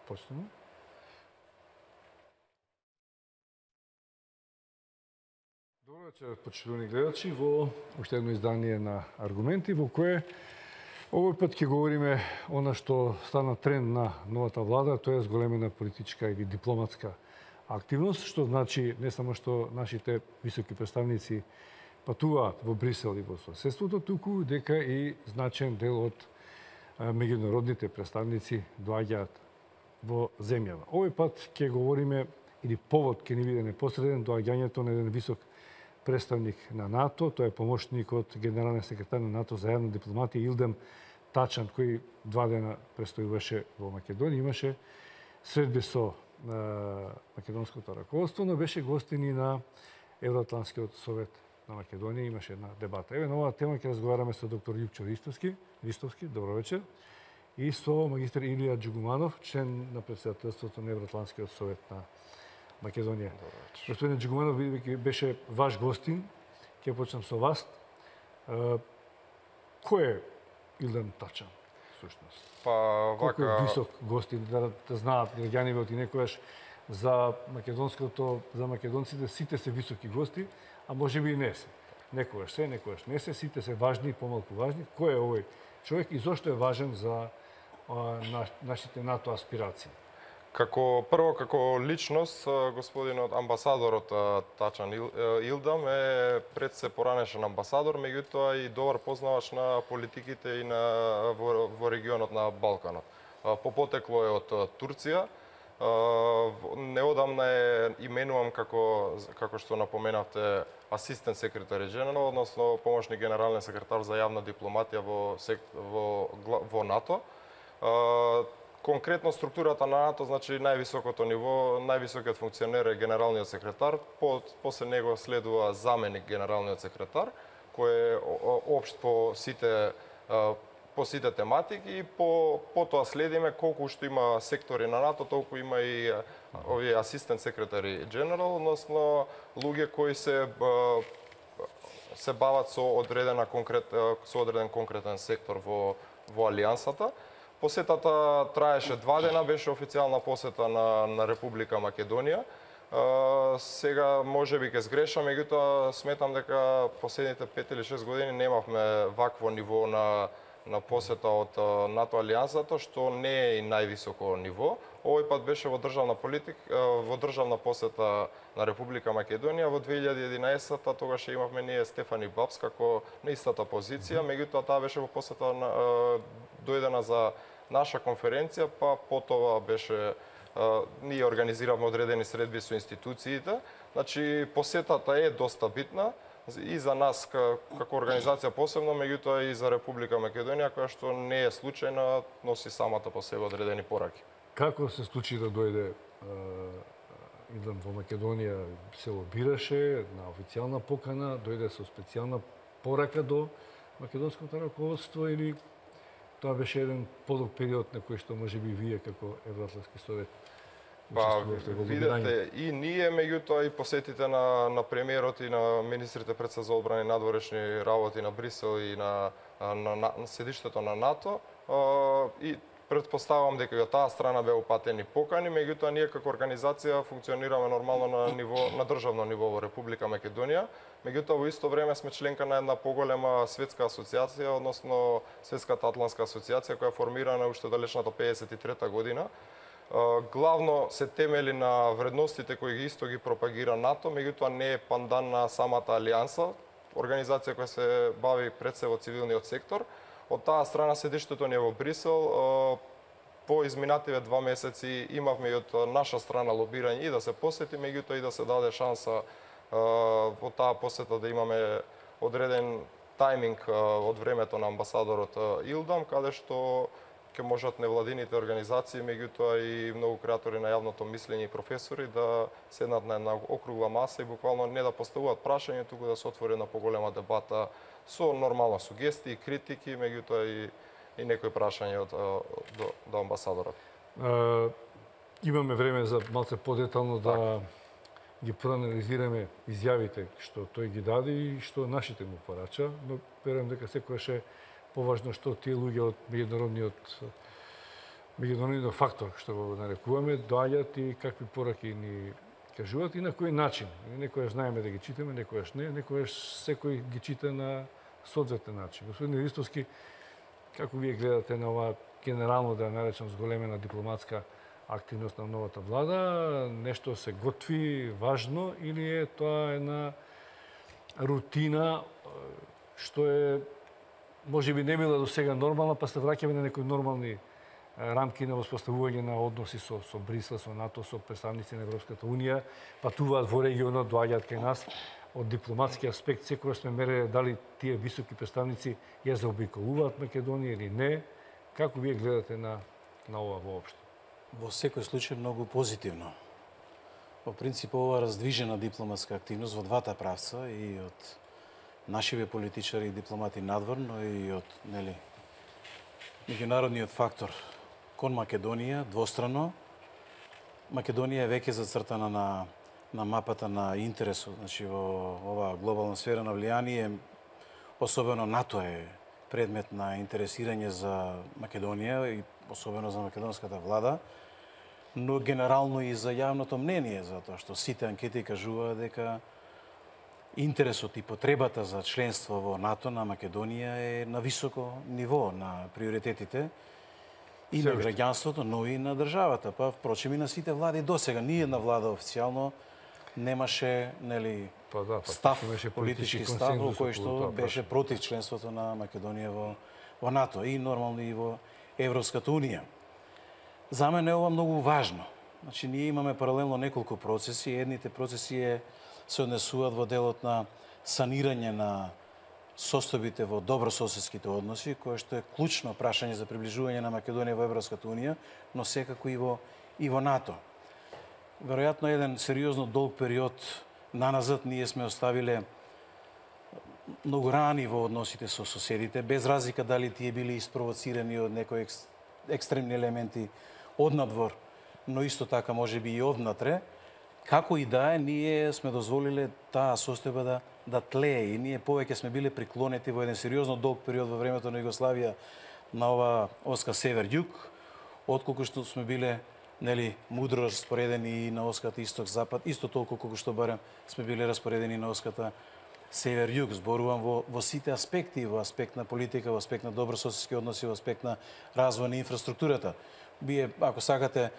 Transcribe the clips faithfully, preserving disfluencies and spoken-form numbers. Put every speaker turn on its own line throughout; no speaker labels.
почнемо. Добро вечер, почитувани гледачи, во уште едно издание на Аргументи, во кое овој пат ќе говориме она што стана тренд на новата влада, тоа е зголемена политичка или дипломатска активност, што значи не само што нашите високи представници патуваат во Брисел и во соседството, туку дека и значен дел од меѓународните представници доаѓаат во земјава. Овој пат ќе говориме, или повод ќе ни биде непосреден, доаѓањето на еден висок представник на НАТО, тоа е помошникот генерален секретар на НАТО за јавна дипломатија Илдем Тачан, кој два дена престојуваше во Македонија, имаше средби со е, македонското раководство, но беше гостин и на Евроатлантскиот совет на Македонија, имаше една дебата. Еве на оваа тема ќе разговараме со доктор Љупчо Ристовски, Ристовски, добро вечер, и со магистар Илија Џугуманов, член на претседателството на Евроатлантскиот совет на Македонија. Господин Џугуманов, бидејќи беше ваш гостин, ќе почнам со вас. Е, кој е Илдем Тачан, всушност?
Па,
Колку е
вака...
висок гостин, да, да знаат граѓаниве од и некојаш за македонското, за македонците сите се високи гости, а може би и не се. Некојаш се, некојаш не се, сите се важни и помалку важни. Кој е овој човек и зошто е важен за а, на, нашите НАТО аспирации?
Како прво како личност, господинот амбасадорот Тачан Илдам е пред се поранешен амбасадор, меѓутоа и добар познавач на политиките и на во, во регионот на Балканот. По потекло е од Турција. Неодамна е именувам како како што напоменавте асистент секретари генерал, односно помошник генерален секретар за јавна дипломатија во во во НАТО. Конкретно структурата на НАТО, значи највисокото ниво, највисокиот функционер е генералниот секретар, по, после него следува заменик генералниот секретар, кој е општ по сите по сите тематики и по потоа следиме колку што има сектори на НАТО, толку има и овие асистент секретари генерал, односно луѓе кои се се бават со одредена конкрет со одреден конкретен сектор во во алијансата. Посетата траеше два дена, беше официјална посета на, на Република Македонија. Uh, сега може би ќе сгрешам, меѓутоа сметам дека последните пет или шест години немавме вакво ниво на на посета од uh, НАТО алијансата, што не е и највисоко ниво. Овој пат беше во државна политика, uh, во државна посета на Република Македонија во две илјади и единаесетта, тогаш имавме ние Стефани Бабс како на истата позиција, меѓутоа таа беше во посета на, uh, дојдена за наша конференција, па потоа беше uh, ние организиравме одредени средби со институциите. Значи посетата е доста битна и за нас како организација посебно, меѓутоа и за Република Македонија, која што не е случајна, носи самата по себе одредени пораки.
Како се случи да дојде Илдем во Македонија, се лобираше на официјална покана, дојде со специјална порака до македонското раководство или тоа беше еден подолг период на кој што може би вие како Евроатлантски совет
Па, видете, и ние, меѓутоа и посетите на, на премиерот и на министрите пред се за одбрана и надворешни работи на Брисел и на, на, на, на седиштето на НАТО, а, и предпоставам дека од таа страна беа упатени покани, меѓутоа ние како организација функционираме нормално на ниво на државно ниво во Република Македонија. Меѓутоа во исто време сме членка на една поголема светска асоциација, односно Светската атлантска асоциација, која е формирана уште далечната пеесет и трета година. Главно се темели на вредностите кои ги исто ги пропагира НАТО, меѓутоа не е пандан на самата алијанса, организација која се бави пред се во цивилниот сектор. Од таа страна седиштето ни е во Брисел. По изминативе два месеци имавме и од наша страна лобирање и да се посети, меѓутоа и да се даде шанса во таа посета да имаме одреден тајминг од времето на амбасадорот Илдам, каде што ќе можат невладините организации, меѓутоа и многу креатори на јавното мислење и професори да седнат на една округла маса и буквално не да поставуваат прашања, туку да се отвори една поголема дебата со нормални сугестии, критики, меѓутоа и, и некои прашања од, до, до амбасадорот.
Uh, имаме време за малце подетално да ги проанализираме изјавите што тој ги даде и што нашите му порача, но верувам дека секогаш е поважно што тие луѓе од меѓународниот меѓународниот фактор, што го нарекуваме, доаѓаат и какви пораки ни кажуваат и на кој начин. Некојаш знаеме да ги читаме, некојаш не, некојаш секој ги чита на соодветен начин. Господин Ристовски, како вие гледате на ова генерално, да наречам, зголемена дипломатска активност на новата влада? Нешто се готви важно или е тоа една рутина што е можеби не била до сега нормална, па се враќаме на некои нормални рамки на воспоставување на односи со, со Брисел, со НАТО, со представници на Европската Унија, патуваат во регионот, доаѓаат кај нас. Од дипломатски аспект, секогаш сме мереле дали тие високи представници ја заобиколуваат Македонија или не. Како вие гледате на, на ова воопшто?
Во секој случај многу позитивно. Во принцип, ова раздвижена дипломатска активност во двата правца, и од нашиве политичари и дипломати надвор, но и од, нели, меѓународниот фактор кон Македонија, двострано. Македонија е веќе зацртана на, на мапата на интересот, значи во ова глобална сфера на влијание, особено НАТО е предмет на интересирање за Македонија и особено за македонската влада, но генерално и за јавното мнение, затоа што сите анкети кажуваат дека интересот и потребата за членство во НАТО на Македонија е на високо ниво на приоритетите и на граѓанството, но и на државата, па впрочем и на сите влади досега. Ни една влада официјално немаше, нели,
па да, па,
став,
имаше
политички став во кој што беше против членството на Македонија во, во НАТО и нормално и во Европската Унија. За мене е ова многу важно. Значи, ние имаме паралелно неколку процеси. Едните процеси е, се однесуваат во делот на санирање на состојбите во добрососедските односи, кое што е клучно прашање за приближување на Македонија во Европската Унија, но секако и во, и во НАТО. Веројатно еден сериозно долг период наназад ние сме оставиле многу рани во односите со соседите, без разлика дали тие били испровоцирани од некои екстремни елементи однадвор, но исто така може би и однатре. Како и да е, ние сме дозволиле таа состојба да, да тлее и ние повеќе сме биле приклонети во еден сериозно долг период во времето на Југославија на ова оска север-југ, отколку што сме биле, нели, мудро распоредени и на оската исток-запад, исто толку колку што барем сме биле распоредени на оската север-југ. Зборувам во, во сите аспекти, во аспект на политика, во аспект на добрососедски односи, во аспект на развој на инфраструктурата. Вие, ако сакате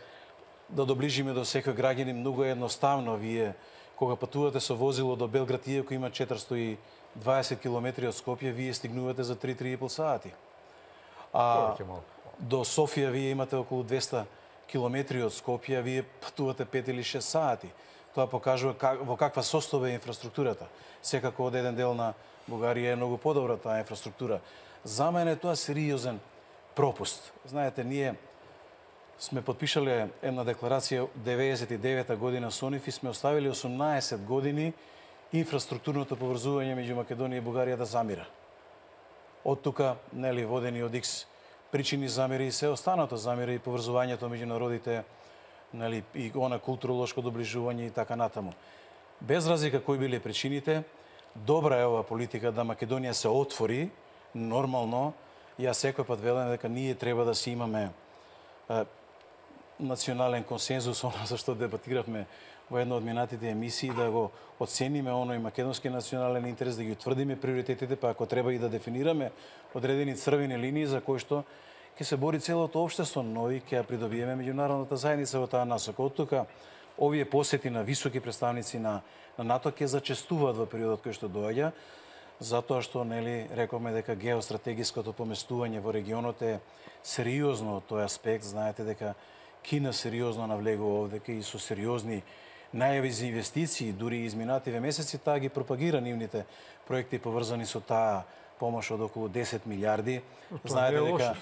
да доближиме до секој граѓанин, многу е едноставно. Вие, кога патувате со возило до Белград, иако има четиристо и дваесет километри од Скопје, вие стигнувате за три до три и пол сати. А до Софија вие имате околу двесте километри од Скопје, вие патувате пет или шест сати. Тоа покажува как, во каква состојба е инфраструктурата. Секако од еден дел на Бугарија е многу подобра таа инфраструктура. За мене тоа е сериозен пропуст. Знаете, ние сме подпишале една декларација деветдесет и девета година со НИФ и сме оставили осумнаесет години инфраструктурното поврзување меѓу Македонија и Бугарија да замира. Од тука, нели, водени од Икс причини замири и се останато замира и поврзувањето меѓу народите, нели, и она културолошко доближување и така натаму. Без разлика кои биле причините, добра е ова политика да Македонија се отвори нормално. Јас секој пат велам дека ние треба да си имаме е, национален консензус, оно за што дебатиравме во една од минатите емисии, да го оцениме оној македонски национален интерес, да ги утврдиме приоритетите, па ако треба и да дефинираме одредени црвени линии за кои што ќе се бори целото општество, но и ќе ја придобиеме меѓународната заедница во таа насока. Од тука, овие посети на високи представници на, на НАТО ќе зачестуваат во периодот кој што доаѓа, затоа што, нели, рековме дека геостратегиското поместување во регионот е сериозно од тој аспект. Знаете дека Кина сериозно навлегува овде и со сериозни најави за инвестиции, дури изминативе месеци таа ги пропагира нивните проекти поврзани со таа помош од околу десет милиарди. Знаете дека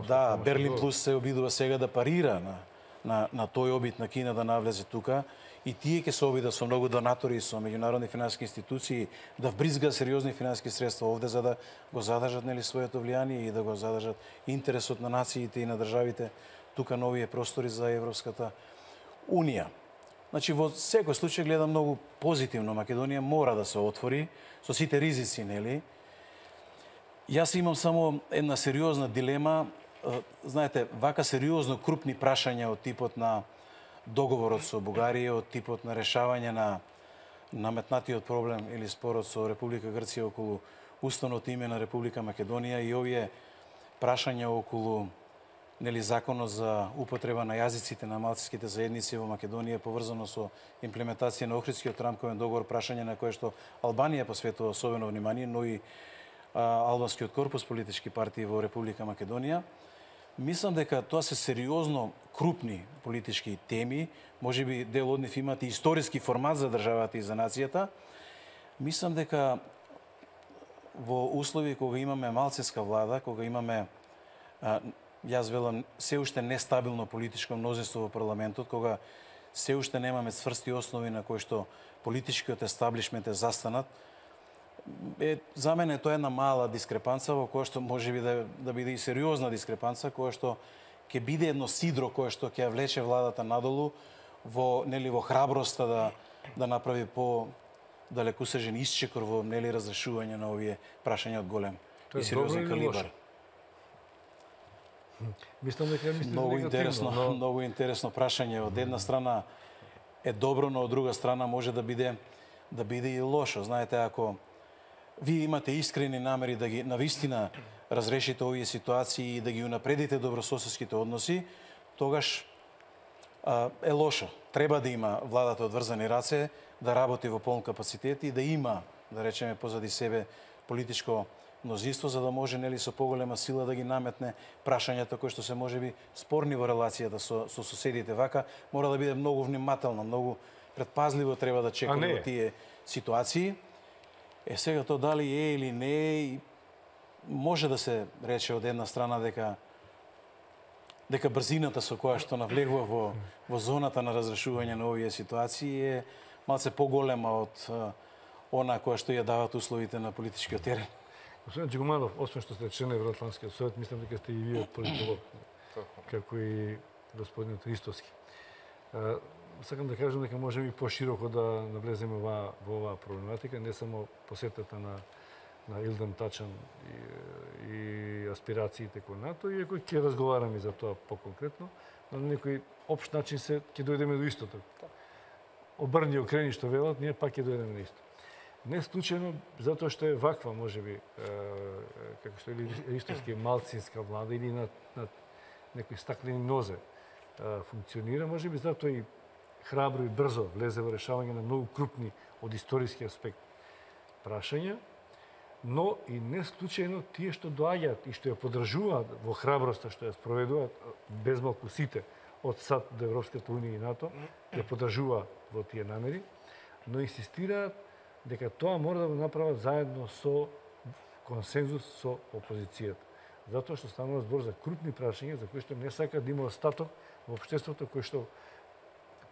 да, Берлин плюс се обидува сега да парира на на на тој обид на Кина да навлезе тука и тие ќе се обидат со многу донатори, со меѓународни финансиски институции да вбризга сериозни финансиски средства овде за да го задржат, нели, своето влијание и да го задржат интересот на нациите и на државите тука на овие простори за Европската Унија. Значи, во секој случај гледам многу позитивно. Македонија мора да се отвори со сите ризици, нели? Јас имам само една сериозна дилема знаете, вака сериозно крупни прашања од типот на договорот со Бугарија, од типот на решавање на наметнатиот проблем или спорот со Република Грција околу уставното име на Република Македонија и овие прашања околу нели законот за употреба на јазиците на малцинските заедници во Македонија поврзано со имплементација на Охридскиот рамковен договор, прашање на кое што Албанија посветува особено внимание, но и а, албанскиот корпус политички партии во Република Македонија. Мислам дека тоа се сериозно крупни политички теми, можеби дел од нив имат и историски формат за државата и за нацијата. Мислам дека во услови кога имаме малцинска влада, кога имаме а, јас велам се уште нестабилно политичко мнозинство во парламентот, кога се уште немаме цврсти основи на кои што политичкиот естаблишмент е застанат, е, за мене тоа е една мала дискрепанца во која што можеби да, да биде и сериозна дискрепанца, која што ќе биде едно сидро кое што ќе ја влече владата надолу во нели во храброста да да направи по далекосежен исчекор во нели разрешување на овие прашања од голем и сериозен калибар.
Мислам дека мислите
многу интересно,
но...
многу интересно прашање. Од една страна е добро, но од друга страна може да биде да биде и лошо. Знаете, ако вие имате искрени намери да ги навистина разрешите овие ситуации и да ги унапредите добрососедските односи, тогаш а, е лошо. Треба да има владата одврзани раце, да работи во полн капацитет и да има, да речеме, позади себе политичко мнозинство, за да може нели со поголема сила да ги наметне прашањата кои што се можеби спорни во релацијата со, со соседите. Вака мора да биде многу внимателно, многу предпазливо треба да чекаме во тие ситуации. Е сега тоа дали е или не е, може да се рече од една страна дека дека брзината со која што навлегува во во зоната на разрешување на овие ситуации е малце поголема од она која што ја дават условите на политичкиот терен.
Господин Джигуманов, освен што сте член на Евроатлантскиот совет, мислам дека сте и вие политолог, како и господин Ристовски. Сакам да кажам дека можеме и пошироко да навлеземе во оваа проблематика, не само посетата на на Илден Тачан и, и аспирациите кон НАТО, иако ќе разговараме за тоа поконкретно, но на некој општ начин се ќе дојдеме до истото. Обрни окрени што велат, ние пак ќе дојдеме на исто. Не случајно, затоа што е ваква, можеби, како што е Ристовски малцинска влада или на, на некои стаклени нозе функционира, можеби затоа и храбро и брзо влезе во решавање на многу крупни од историски аспект прашања, но и не случајно тие што доаѓаат и што ја поддржуваат во храброста што ја спроведуваат без малку сите од САД до Европската унија и НАТО, ја поддржуваат во тие намери, но инсистираат дека тоа мора да го направат заедно со консензус со опозицијата. Затоа што станува збор за крупни прашања за кои што не сакаат да има остаток во општеството кој што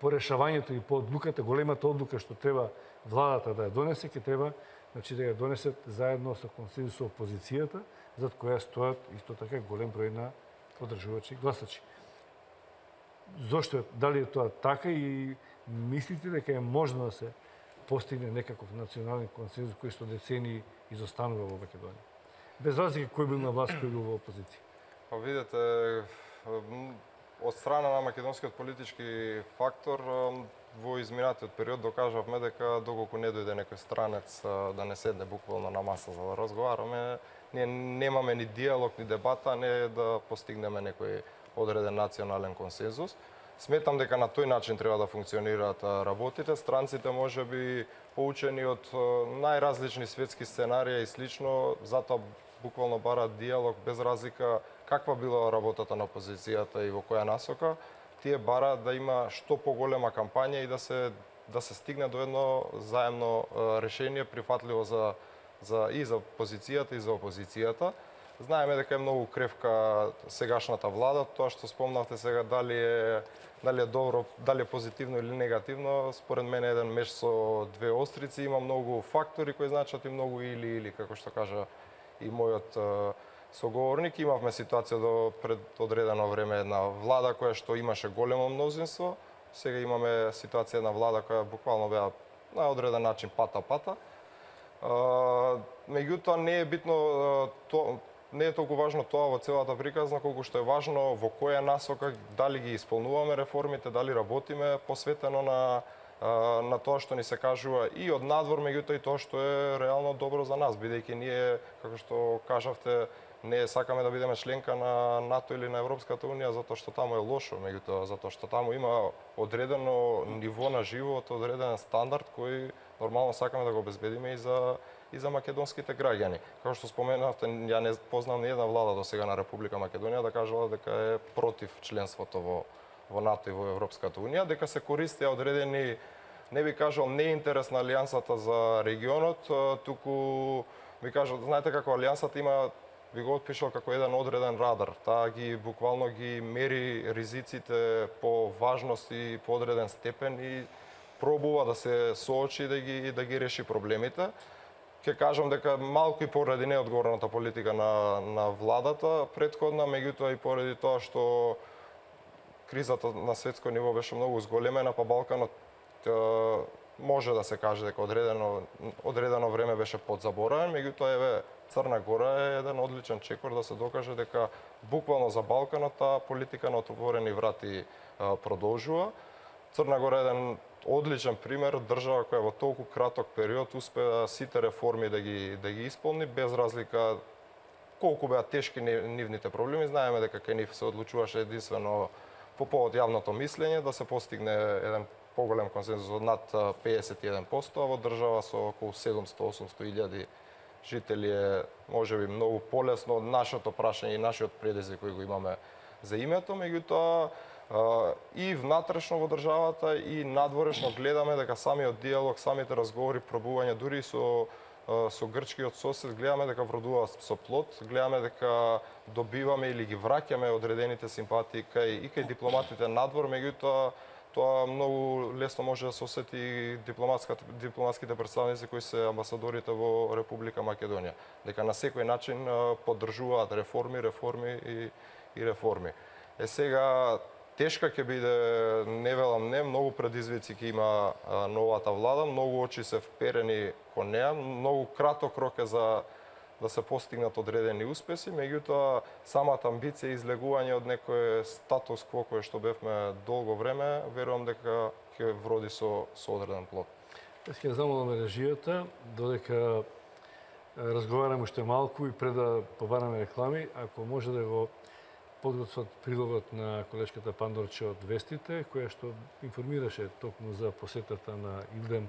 по решавањето и по одлуката, големата одлука што треба владата да ја донесе, ќе треба значи да ја донесат заедно со консензус со опозицијата, зад која стојат исто така голем број на поддржувачи гласачи. Зошто дали е тоа така и мислите дека е можно да се постигне некаков национален консензус кој што децении изостанува во Македонија? Без разлика кој бил на власт, кој бил во опозиција.
Па видете, од страна на македонскиот политички фактор во изминатиот период докажавме дека доколку не дојде некој странец да не седне буквално на маса за да разговараме, ние немаме ни диалог, ни дебата, не да постигнеме некој одреден национален консензус. Сметам дека на тој начин треба да функционираат работите. Странците можеби поучени од најразлични светски сценарија и слично, затоа буквално бараат диалог без разлика каква била работата на опозицијата и во која насока. Тие бараат да има што поголема кампања и да се да се стигне до едно заемно решение прифатливо за за и за позицијата и за опозицијата. Знаеме дека е многу кревка сегашната влада, тоа што спомнавте сега дали е дали е добро, дали е позитивно или негативно, според мене еден меч со две острици, има многу фактори кои значат и многу или или како што кажа и мојот соговорник. Имавме ситуација до пред одредено време една влада која што имаше големо мнозинство, сега имаме ситуација на влада која буквално беа на одреден начин пата-пата. Меѓутоа не е битно то, не е толку важно тоа во целата приказна, колку што е важно во која насока, дали ги исполнуваме реформите, дали работиме посветено на на тоа што ни се кажува и од надвор, меѓутоа и тоа што е реално добро за нас, бидејќи ние, како што кажавте, не сакаме да бидеме членка на НАТО или на Европската унија затоа што таму е лошо, меѓутоа затоа што таму има одредено ниво на живот, одреден стандард кој нормално сакаме да го обезбедиме и за и за македонските граѓани. Како што споменавте, ја не познам ни една влада до сега на Република Македонија да кажала дека е против членството во во НАТО и во Европската унија, дека се користеа одредени, не би кажал не интерес на алијансата за регионот, туку би кажал, знаете како алијансата има, би го отпишал како еден одреден радар. Таа ги буквално ги мери ризиците по важност и по одреден степен и пробува да се соочи да ги да ги реши проблемите. Ке кажам дека малку и поради неодговорната политика на на владата претходна, меѓутоа и поради тоа што кризата на светско ниво беше многу зголемена, па Балканот може да се каже дека одредено одредено време беше подзаборавен, меѓутоа еве Црна Гора е еден одличен чекор да се докаже дека буквално за Балканот таа политика на отворени врати продолжува. Црна Гора е еден одличен пример, држава која во толку краток период успеа сите реформи да ги да ги исполни без разлика колку беа тешки нивните проблеми. Знаеме дека кај нив се одлучуваше единствено по повод јавното мислење да се постигне еден поголем консензус од над педесет и еден проценти, а во држава со околу седумстотини до осумстотини илјади жители е можеби многу полесно од нашето прашање и нашиот предизвик кој го имаме за името, меѓутоа и внатрешно во државата и надворешно гледаме дека самиот диалог, самите разговори, пробување дури со со грчкиот сосед, гледаме дека вродува со плод, гледаме дека добиваме или ги враќаме одредените симпатии кај и кај дипломатите надвор, меѓутоа тоа многу лесно може да се осети дипломатските представници кои се амбасадорите во Република Македонија, дека на секој начин поддржуваат реформи, реформи и, и реформи. Е сега тешка ќе биде, не велам не, многу предизвици ќе има новата влада, многу очи се вперени кон неа, многу краток рок е за да се постигнат одредени успеси, меѓутоа самата амбиција и излегување од некој статус кво кој што бевме долго време, верувам дека ќе вроди со со одреден плод.
Јас ќе замолам режијата додека разговараме уште малку и пред да побараме реклами, ако може да го подготват прилогот на колешката Пандорче од Вестите, која што информираше токму за посетата на Илдем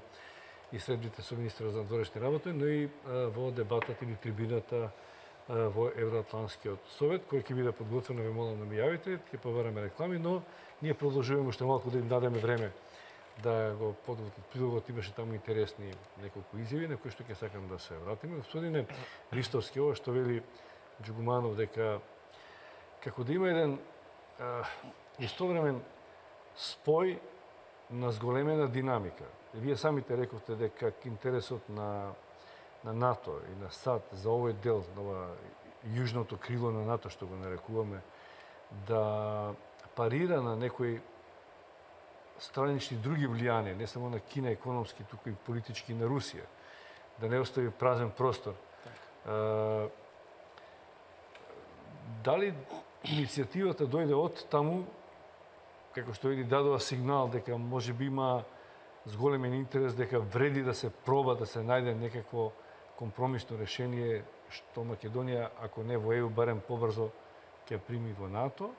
и средбите со министерот за надворешни работи, но и во дебатата или трибината во Евроатлантскиот совет, кој ќе биде подготвено, ве молам да ми јавите, ќе побараме реклами, но ние продолжуваме уште малку да им дадеме време да го подготват прилогот, имаше таму интересни неколку изјави на кои што ќе сакам да се вратиме. Господине Ристовски, ова што вели Џугуманов дека како да има еден а, истовремен спој на зголемена динамика. Вие самите рековте дека интересот на на НАТО и на САД за овој дел, на ова јужното крило на НАТО што го нарекуваме, да парира на некои странични други влијанија, не само на Кина економски, туку и политички на Русија, да не остави празен простор. А, дали иницијативата дојде од таму, како што или дадува сигнал дека може би има зголемен интерес, дека вреди да се проба да се најде некакво компромисно решение што Македонија, ако не во Е У, барем побрзо ќе прими во НАТО,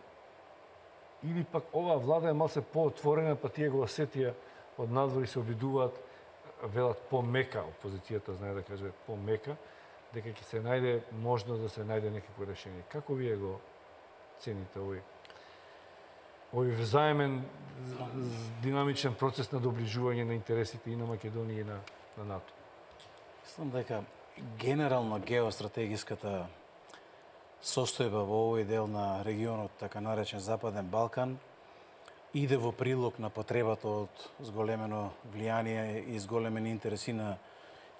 или пак оваа влада е малце поотворена, па тие го осетија од надвор и се обидуваат, велат помека, опозицијата знае да каже помека, дека ќе се најде можност да се најде некакво решение. Како вие го цените овој овој взаемен динамичен процес на доближување на интересите и на Македонија и на, на НАТО?
Мислам дека генерално геостратегиската состојба во овој дел на регионот, така наречен Западен Балкан, иде во прилог на потребата од зголемено влијание и зголемен интерес и на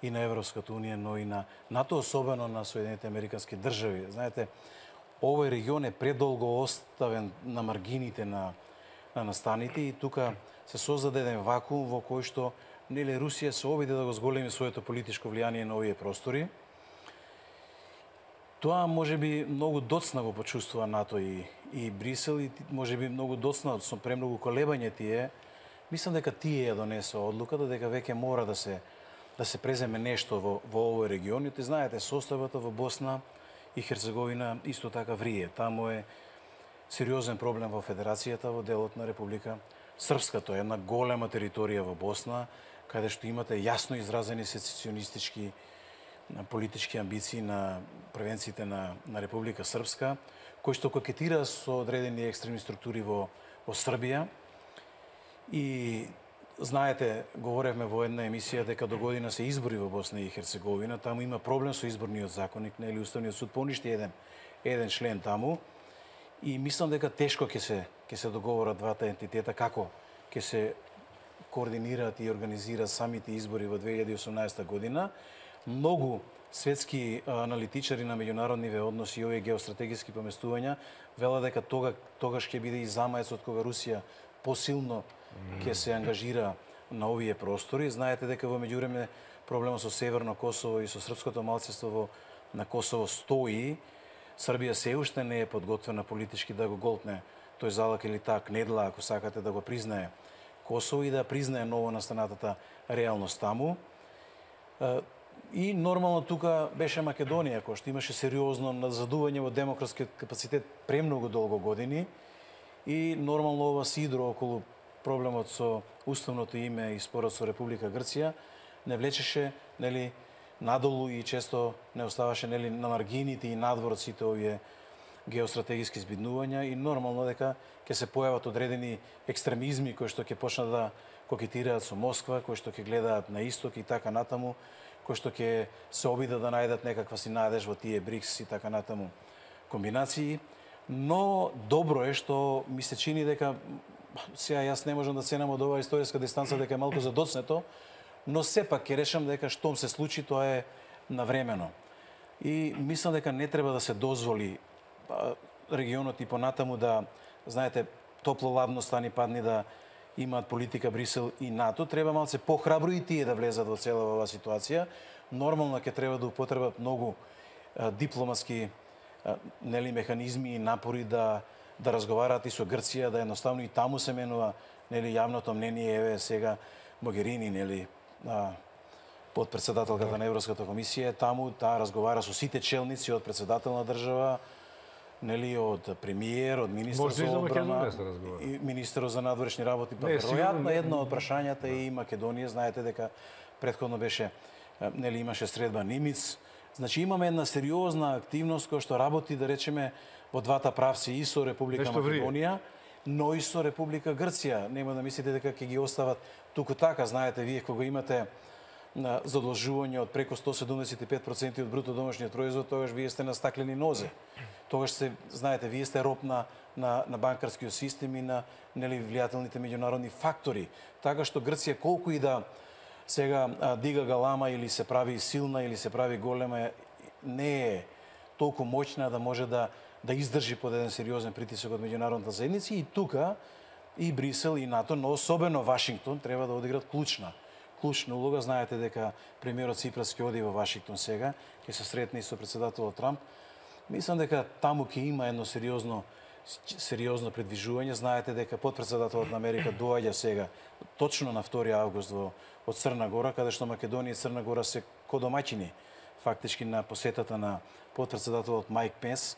и на Европската унија, но и на НАТО, особено на Соединетите Американски држави. Знаете, овој регион е предолго оставен на маргините на, на настаните и тука се создаде еден вакуум во кој што нели Русија се обиде да го зголеми своето политичко влијание на овие простори. Тоа може би многу доцна го почувствува НАТО и, и Брисел и може би многу доцна со премногу колебање тие. Мислам дека тие ја донесоа одлуката дека веќе мора да се да се преземе нешто во во овој регион. И ти знаете, составата во Босна и Херцеговина исто така врие. Таму е сериозен проблем во Федерацијата, во делот на Република Српска. Тоа е една голема територија во Босна, каде што имате јасно изразени сецесионистички политички амбиции на превенциите на, на Република Српска, кои што кокетира со одредени екстремни структури во, во Србија. И знаете, говоревме во една емисија дека до година се избори во Босна и Херцеговина, таму има проблем со изборниот законник, нели Уставниот суд поништи еден еден член таму. И мислам дека тешко ќе се ќе се договорат двата ентитета како ќе се координираат и организираат самите избори во две илјади и осумнаесета година. Многу светски аналитичари на меѓународниве односи и овие геостратегиски поместувања велат дека тога тогаш ќе биде и замаецот кога Русија посилно ќе се ангажира на овие простори. Знаете дека во меѓувреме проблемот со Северно Косово и со српското малцинство во на Косово стои. Србија се уште не е подготвена политички да го голтне тој залак или таа кнедла, ако сакате да го признае Косово и да признае ново настанатата реалност таму. И нормално тука беше Македонија, која што имаше сериозно назадување во демократскиот капацитет премногу долго години и нормално ова сидро околу проблемот со уставното име и спорот со Република Грција не влечеше, нели, надолу и често не оставаше, нели, на маргините и надвор од сите овие геостратегиски збиднувања и нормално дека ќе се појават одредени екстремизми кои што ќе почнат да кокетираат со Москва, кои што ќе гледаат на исток и така натаму, кои што ќе се обидат да најдат некаква си надеж во тие БРИКС и така натаму комбинации. Но добро е што ми се чини дека сега јас не можам да ценам од оваа историска дистанца дека е малку задоцнето, но сепак ќе решам дека штом се случи тоа е навремено. И мислам дека не треба да се дозволи регионот и понатаму да, знаете, топло-ладно стани падни да имаат политика Брисел и НАТО. Треба малце похрабро и тие да влезат во цела оваа ситуација. Нормално ќе треба да употребат многу а, дипломатски а, нели механизми и напори да да разговараат и со Грција, да едноставно и таму се менува нели јавното мнение, еве сега Могерини, нели подпредседателката на Европската комисија, таму таа разговара со сите челници од председател на држава, нели од премиер, од министар за одбрана и министерот за надворешни работи. Па веројатно едно од прашањата е и Македонија, знаете дека претходно беше нели имаше средба Нимиц. Значи имаме една сериозна активност која што работи, да речеме, во двата правци и со Република Македонија, но и со Република Грција. Нема да мислите дека ќе ги остават туку така. Знаете, вие кога имате на задолжување од преку сто седумдесет и пет проценти од бруто домашниот производ, тогаш вие сте на стаклени нозе. Тогаш се, знаете, вие сте роб на, на, на банкарскиот систем и на нели влијателните меѓународни фактори. Така што Грција колку и да сега а, дига галама или се прави силна или се прави голема, не е толку моќна да може да да издржи под еден сериозен притисок од меѓународната заедница и тука и Брисел и НАТО, но особено Вашингтон треба да одиграат клучна клучна улога. Знаете дека премиерот Ципрас ќе оди во Вашингтон сега, ќе се сретне и со председателот Трамп. Мислам дека таму ќе има едно сериозно сериозно предвижување. Знаете дека подпредседателот на Америка доаѓа сега точно на втори август во од Црна Гора, каде што Македонија и Црна Гора се кодомаќини фактички на посетата на подпредседателот Майк Пенс.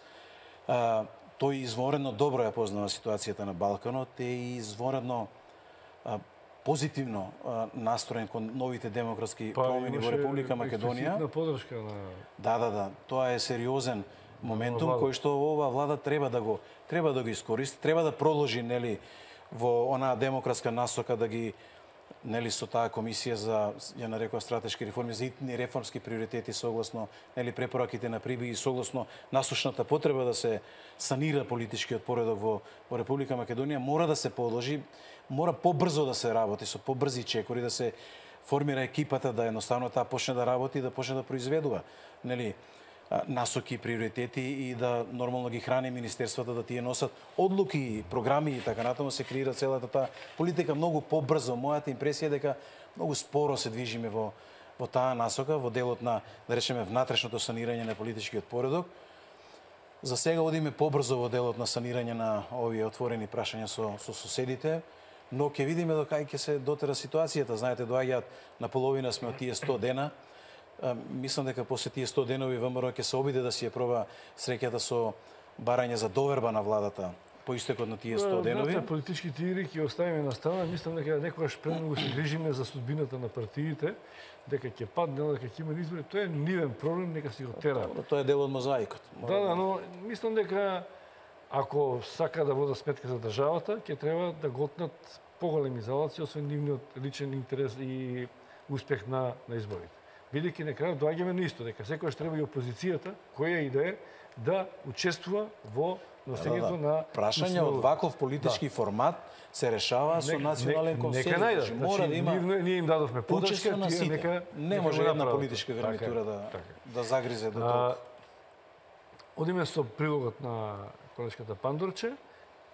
А, тој изворено добро ја познава ситуацијата на Балканот и изворено а, позитивно а, настроен кон новите демократски па, промени во Република Македонија.
Па подршка на
Да, да, да, тоа е сериозен моментум кој што оваа влада треба да го треба да го искористи, треба да продолжи нели во онаа демократска насока да ги нели со таа комисија за ја нарекува стратешки реформи, за итни реформски приоритети согласно нели препораките на Приби и согласно насушната потреба да се санира политичкиот поредок во во Република Македонија, мора да се продолжи, мора побрзо да се работи со побрзи чекори, да се формира екипата да едноставно таа почне да работи и да почне да произведува нели насоки, приоритети и да нормално ги храни министерствата да тие носат одлуки, програми и така натаму се креира целата таа политика многу побрзо. Мојата импресија е дека многу споро се движиме во во таа насока, во делот на, да речеме, внатрешното санирање на политичкиот поредок, За сега одиме побрзо во делот на санирање на овие отворени прашања со, со соседите, но ќе видиме до кај ќе се дотера ситуацијата. Знаете, доаѓаат на половина сме од тие сто дена. Мислам дека после тие сто денови ВМРО ќе се обиде да си ја проба среќата со барање за доверба на владата по истекот на тие сто денови.
Знаете, политичките игри ќе оставиме на страна. Мислам дека некогаш премногу се грижиме за судбината на партиите, дека ќе падне, дека ќе има избори. Тоа е нивен проблем, нека си го тера.
Тоа е дел од мозаикот.
Да, да, но мислам дека ако сака да вода сметка за државата, ќе треба да готнат поголеми залаци, освен нивниот личен интерес и успех на, на изборите. Бидејќи на крајот доаѓаме на исто, дека секојаш треба и опозицијата, која и да е, да учествува во носењето да, да. на
прашање од ваков политички да. формат се решава со национален консензус.
Нека најдат. Мора
значи, да има
ние, ние им дадовме подршка, тие нека
не може
нека
една политичка гарнитура да така. да загризе до тоа.
Одиме со прилогот на колешката Пандорче.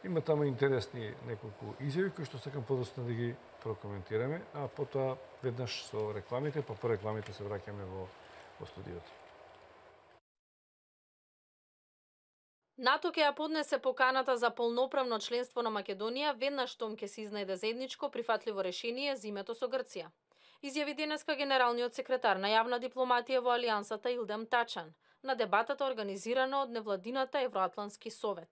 Има таму интересни неколку изјави кои што сакам подоцна да ги прокоментираме, а потоа веднаш со рекламите, па по рекламите се враќаме во, во студиото.
НАТО ќе ја поднесе поканата за полноправно членство на Македонија веднаш штом ќе се изнајде заедничко прифатливо решение за името со Грција. Изјави денеска генералниот секретар на јавна дипломатија во Алијансата Илдем Тачан на дебатата организирана од невладината Евроатлантски совет.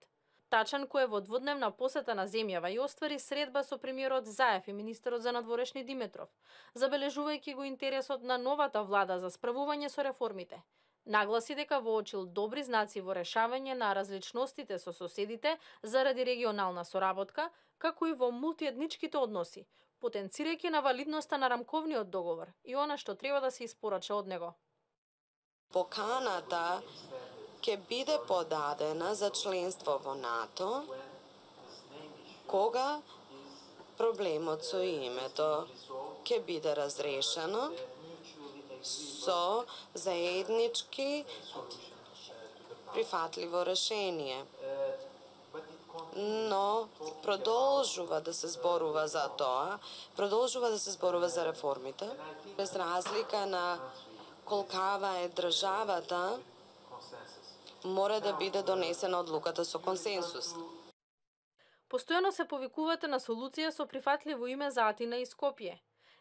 Тачан, кој е во дводневна посета на земјава и оствари средба со премиерот Заев и министерот за надворешни Димитров, забележувајќи го интересот на новата влада за справување со реформите. Нагласи дека воочил добри знаци во решавање на различностите со соседите заради регионална соработка, како и во мултиетничките односи, потенцирајќи на валидноста на рамковниот договор и она што треба да се испорача од него.
Поканата ќе биде подадена за членство во НАТО кога проблемот со името ќе биде разрешено со заеднички прифатливо решение. Но продолжува да се зборува за тоа, продолжува да се зборува за реформите, без разлика на колкава е државата, мора да биде донесена одлуката со консенсус.
Постојано се повикувате на солуција со прифатливо име за Атина и Скопје.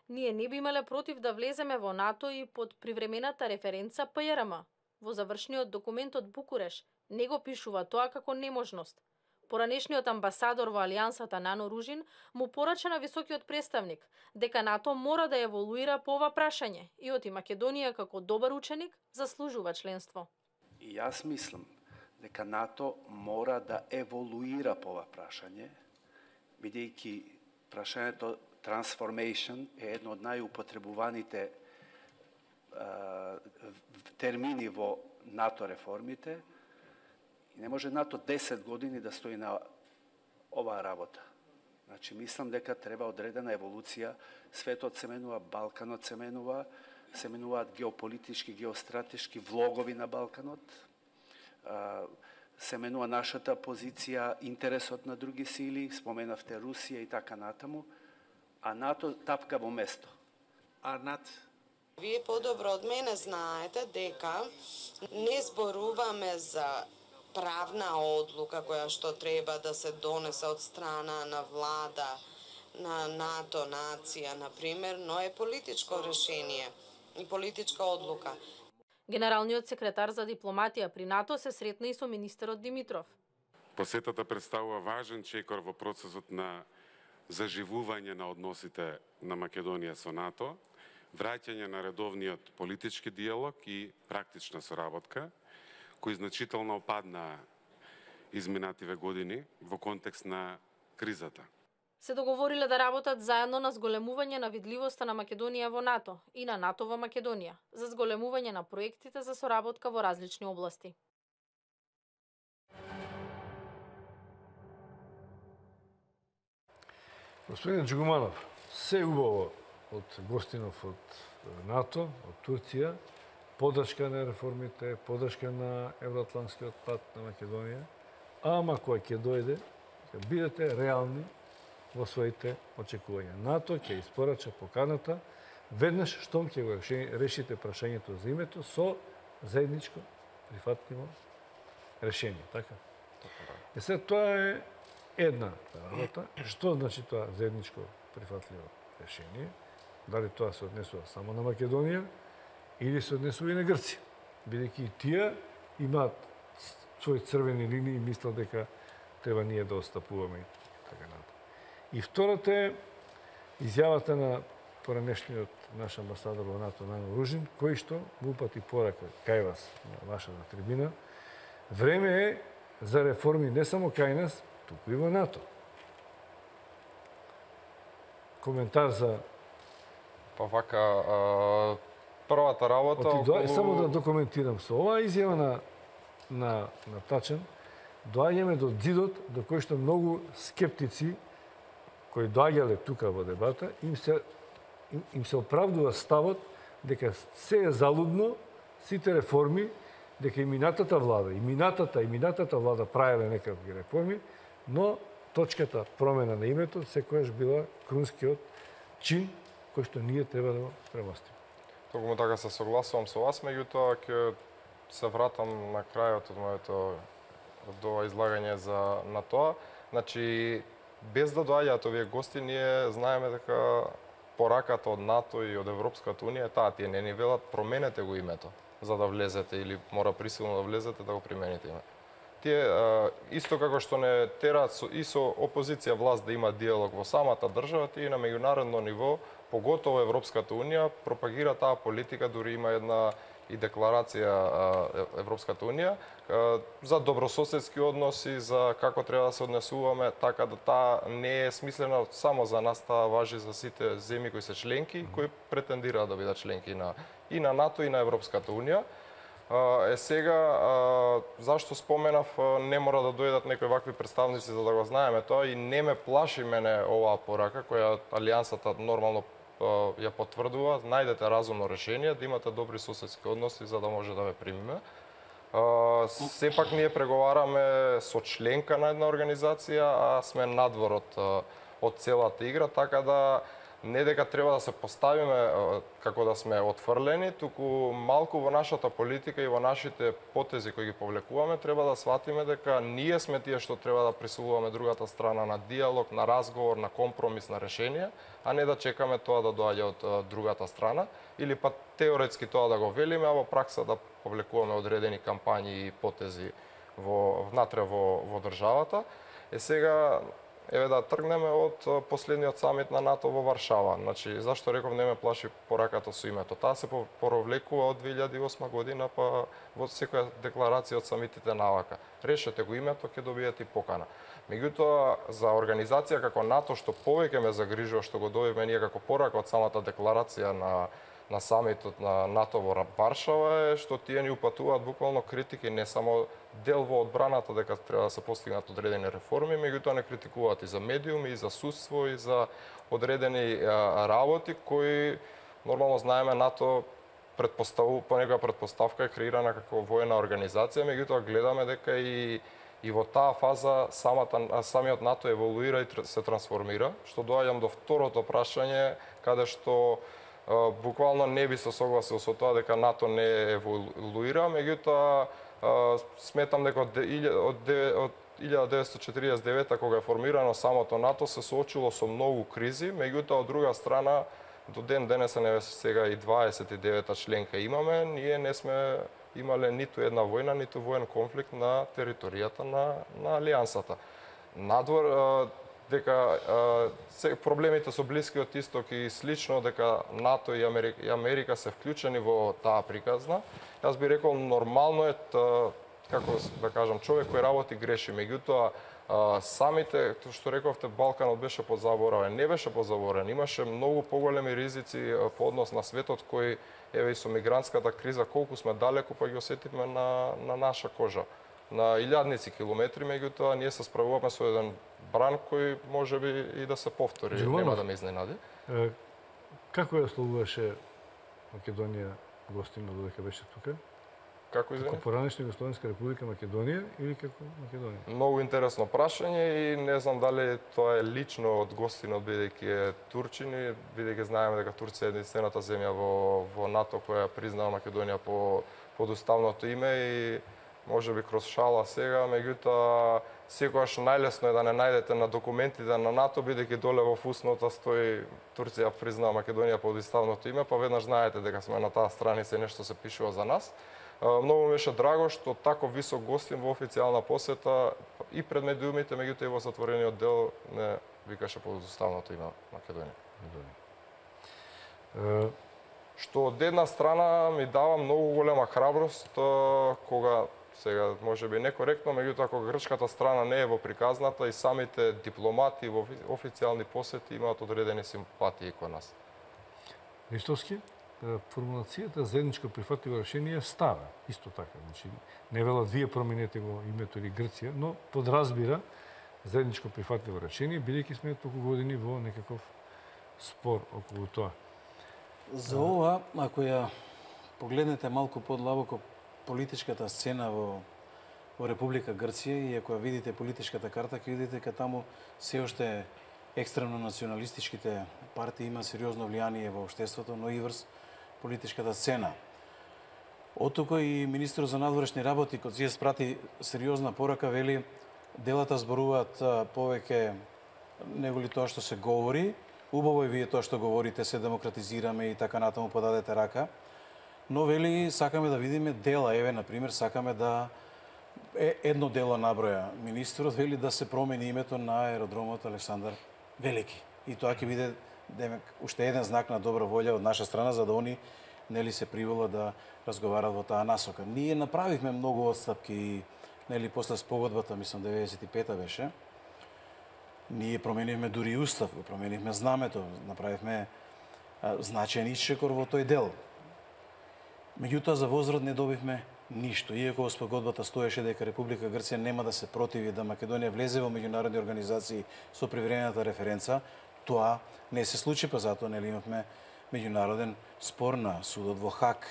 Ние не би имале против да влеземе во НАТО и под привремената референца П Р М. Во завршниот документ од Букуреш не го пишува тоа како неможност. Поранешниот амбасадор во Алијансата Нано Ружин му порача на високиот представник дека НАТО мора да еволуира по ова прашање и оти Македонија како добар ученик заслужува членство.
И јас мислам дека НАТО мора да еволуира по ова прашање, бидејќи прашањето transformation е едно од најупотребуваните термини во НАТО реформите. И не може НАТО десет години да стои на оваа работа. Значи, мислам дека треба одредена еволуција. Светот се менува, Балканот се менува, се менуваат геополитички, геостратешки влогови на Балканот, се менува нашата позиција, интересот на други сили, споменавте Русија и така натаму, а НАТО тапка во место. Арнат?
Вие подобро од мене знаете дека не зборуваме за правна одлука која што треба да се донесе од страна на влада, на НАТО, нација, например, но е политичко решение и политичка одлука.
Генералниот секретар за дипломатија при НАТО се сретна и со министерот Димитров.
Посетата представува важен чекор во процесот на заживување на односите на Македонија со НАТО, враќање на редовниот политички диалог и практична соработка, кои значително опадна изминативе години во контекст на кризата.
Се договориле да работат заедно на зголемување на видливоста на Македонија во НАТО и на НАТО во Македонија, за зголемување на проектите за соработка во различни области.
Господин Джигуманов, се убаво од гостинов од НАТО, од Турција, подршка на реформите, подршка на евроатлантскиот пат на Македонија, ама кој ќе дојде, ќе бидете реални во своите очекувања. НАТО ќе испорача поканата веднаш штом ќе го решите прашањето за името со заедничко прифатливо решение, така? Е сега тоа е една работа. Што значи тоа заедничко прифатливо решение? Дали тоа се однесува само на Македонија или се однесува и на Грција? Бидејќи и тие имаат своји црвени линии и мислат дека треба ние да отстапуваме и така натаму. И втората е изјавата на поранешниот наш амбасадор во НАТО Нано Ружин, кој што му упати порака кај вас на вашата трибина. Време е за реформи не само кај нас, туку и во НАТО. Коментар за
Па вака, а, првата работа...
Оти,
околу...
Само да документирам со оваа изјава на, на, на Тачан, доаѓаме до зидот до кој што многу скептици кои доаѓале тука во дебата, им се, им, им се оправдува ставот дека се е залудно, сите реформи, дека и минатата влада, и минатата, и минатата влада правеле некакви реформи, но точката промена на името секојаш била крунскиот чин кој што ние треба да го премостиме.
Токму така се согласувам со вас, меѓутоа ќе се вратам на крајот од моето од ова излагање за на тоа. Значи, без да доаѓаат овие гости, ние знаеме дека пораката од НАТО и од Европската унија е таа, тие не ни велат променете го името за да влезете или мора присилно да влезете да го примените име. Тие исто како што не тераат и со опозиција власт да има диалог во самата држава, тие на меѓународно ниво, поготово Европската унија, пропагира таа политика, дури има една и декларација Европската унија за добрососедски односи, за како треба да се однесуваме, така да таа не е смислена само за нас, таа важи за сите земји кои се членки, кои претендираат да бидат членки на и на НАТО и на Европската унија. Е сега, зашто споменав, не мора да дојдат некои вакви представници за да го знаеме тоа и не ме плаши мене оваа порака која Алијансата нормално ја потврдува, најдете разумно решение, да имате добри соседски односи за да може да ве примиме. Сепак ние преговараме со членка на една организација, а сме надвор од, од целата игра, така да не дека треба да се поставиме како да сме отфрлени, туку малку во нашата политика и во нашите потези кои ги повлекуваме, треба да сватиме дека ние сме тие што треба да присилуваме другата страна на диалог, на разговор, на компромис, на решение, а не да чекаме тоа да доаѓа од другата страна, или па теоретски тоа да го велиме, а во пракса да повлекуваме одредени кампањи и потези во внатре во, во државата. Е сега, еве да тргнеме од последниот самит на НАТО во Варшава. Значи, зашто реков не ме плаши пораката со името? Таа се поровлекува од две илјади и осма година, па во секоја декларација од самитите навака. Решете го името, ќе добиете и покана. Меѓутоа, за организација како НАТО, што повеќе ме загрижува, што го добивме ние како порака од самата декларација на на самитот на НАТО во Варшава е што тие ни упатуваат буквално критики не само дел во одбраната дека треба да се постигнат одредени реформи, меѓутоа не критикуваат и за медиуми, и за судство, и за одредени а, работи кои нормално знаеме НАТО предпоставува по некоја предпоставка е креирана како воена организација, меѓутоа гледаме дека и и во таа фаза самата самиот НАТО еволуира и се трансформира, што доаѓам до второто прашање каде што буквално не би се согласил со тоа дека НАТО не еволуира, меѓутоа сметам дека од илјада деветстотини четиридесет и девета кога е формирано самото НАТО се соочило со многу кризи, меѓутоа од друга страна до ден денес не сега и дваесет и девета членка имаме, ние не сме имале ниту една војна, ниту воен конфликт на територијата на на Алијансата. Надвор дека се, проблемите со Блискиот Исток и слично дека НАТО и Америка, и Америка се вклучени во таа приказна. Јас би рекол нормално е, та, како да кажам, човек кој работи греши, меѓутоа самите, што рековте, Балканот беше позаборавен, не беше позаборавен, имаше многу поголеми ризици по однос на светот кој еве и со мигрантската криза колку сме далеку па ги осетивме на на наша кожа. На илјадници километри, меѓутоа ние се справуваме со еден бран кој може би и да се повтори,
Желанов,
нема да ме изненади.
Како ја слугуваше Македонија гостино додека беше тука?
Како извини?
Како поранешна Југословенска република Македонија или како Македонија?
Многу интересно прашање и не знам дали тоа е лично од гостинот бидејќи е турчини, бидејќи знаеме дека Турција е единствената земја во во НАТО која признава Македонија по под уставното име и може би кроз шала сега, меѓутоа секогаш најлесно е да не најдете на документите на НАТО, бидејќи доле во фуснота стои Турција признаа Македонија под уставното име, па веднаш знаете дека сме на таа страница и нешто се пишува за нас. Многу ми беше драго што тако висок гостин во официјална посета и пред медиумите, меѓутоа и во затворениот дел не викаше под уставното име Македонија. Uh... Што од една страна ми дава многу голема храброст кога сега може би некоректно, меѓутоа кога грчката страна не е во приказната и самите дипломати во официјални посети имаат одредени симпатии кон нас.
Ристовски, формулацијата заедничко прифатливо решение е стара, исто така. Значи, не велат вие променете го името или Грција, но подразбира заедничко прифатливо решение, бидејќи сме толку години во некаков спор околу тоа.
За ова, ако ја погледнете малку подлабоко политичката сцена во, во Република Грција и ако ја видите политичката карта, ќе видите дека таму се уште екстремно националистичките партии има сериозно влијание во општеството, но и врз политичката сцена. Оттука и министерот за надворешни работи, кога си спрати сериозна порака, вели делата зборуваат повеќе него ли тоа што се говори. Убаво е вие тоа што говорите, се демократизираме и така натаму подадете рака. Но вели сакаме да видиме дела, еве на пример сакаме да е едно дело наброја министерот, вели да се промени името на аеродромот Александар Велики. И тоа ќе биде демек уште еден знак на добра волја од наша страна за да они нели се приволат да разговарат во таа насока. Ние направивме многу отстапки нели после спогодбата, мислам деветдесет и пета беше. Ние променивме дури устав, го променивме знамето, направивме а, значаен исчекор во тој дел. Меѓутоа за возврат не добивме ништо. Иако во спогодбата стоеше дека Република Грција нема да се противи да Македонија влезе во меѓународни организации со привремената референца, тоа не се случи, па затоа нели имавме меѓународен спор на судот во Хаг.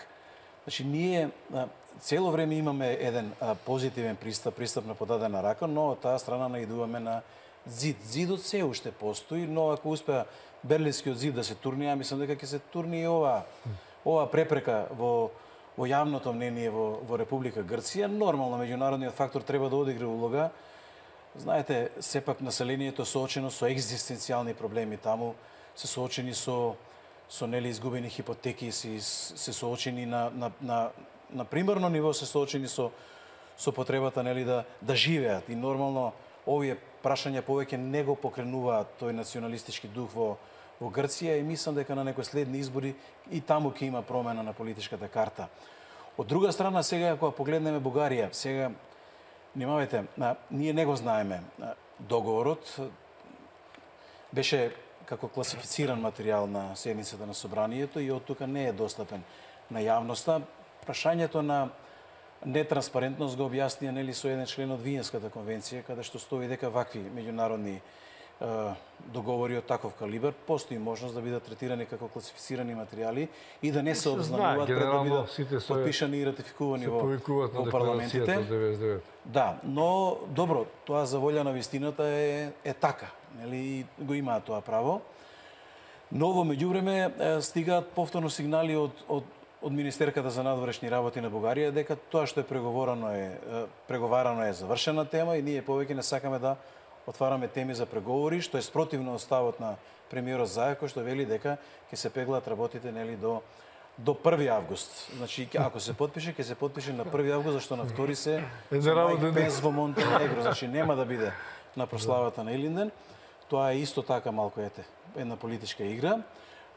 Значи ние а, цело време имаме еден а, позитивен пристап, пристап на подадена рака, но од таа страна наидуваме на зид. Зидот се уште постои, но ако успеа Берлинскиот зид да се турни, ја мислам дека ќе се турни и ова, ова препрека во, во јавното мнение во, во Република Грција. Нормално, меѓународниот фактор треба да одигра улога. Знаете, сепак населението соочено со екзистенцијални проблеми таму, се соочени со, со нели изгубени хипотеки, се, се соочени на, на, на, на примерно ниво, се соочени со, со потребата нели да, да живеат. И нормално, овие прашања повеќе не го покренуваат тој националистички дух во, во Грција и мислам дека на некои следни избори и таму ќе има промена на политичката карта. Од друга страна, сега ако погледнеме Бугарија, сега, внимавајте, ние не го знаеме. Договорот беше како класифициран материјал на седницата на собранието и од тука не е достапен на јавноста. Прашањето на нетранспарентност го објаснија нели со еден член од Виенската конвенција, каде што стои дека вакви меѓународни е, договори од таков калибар постои можност да бидат третирани како класифицирани материјали и да не се обзнануваат пред да бидат подпишани и ратификувани во, во парламентите. Да, но добро, тоа за волја на вистината е, е така, нели го имаат тоа право. Но во меѓувреме стигаат повторно сигнали од, од од Министерката за надворешни работи на Бугарија дека тоа што е преговорано е преговарано е завршена тема и ние повеќе не сакаме да отвараме теми за преговори, што е спротивно од ставот на премиерот Заев, кој што вели дека ќе се пеглаат работите нели до до први август. Значи ако се подпише, ќе се подпише на први август, зашто на втори се Майк Пенс во Монтенегро, значи нема да биде на прославата на Илинден. Тоа е исто така малку ете една политичка игра,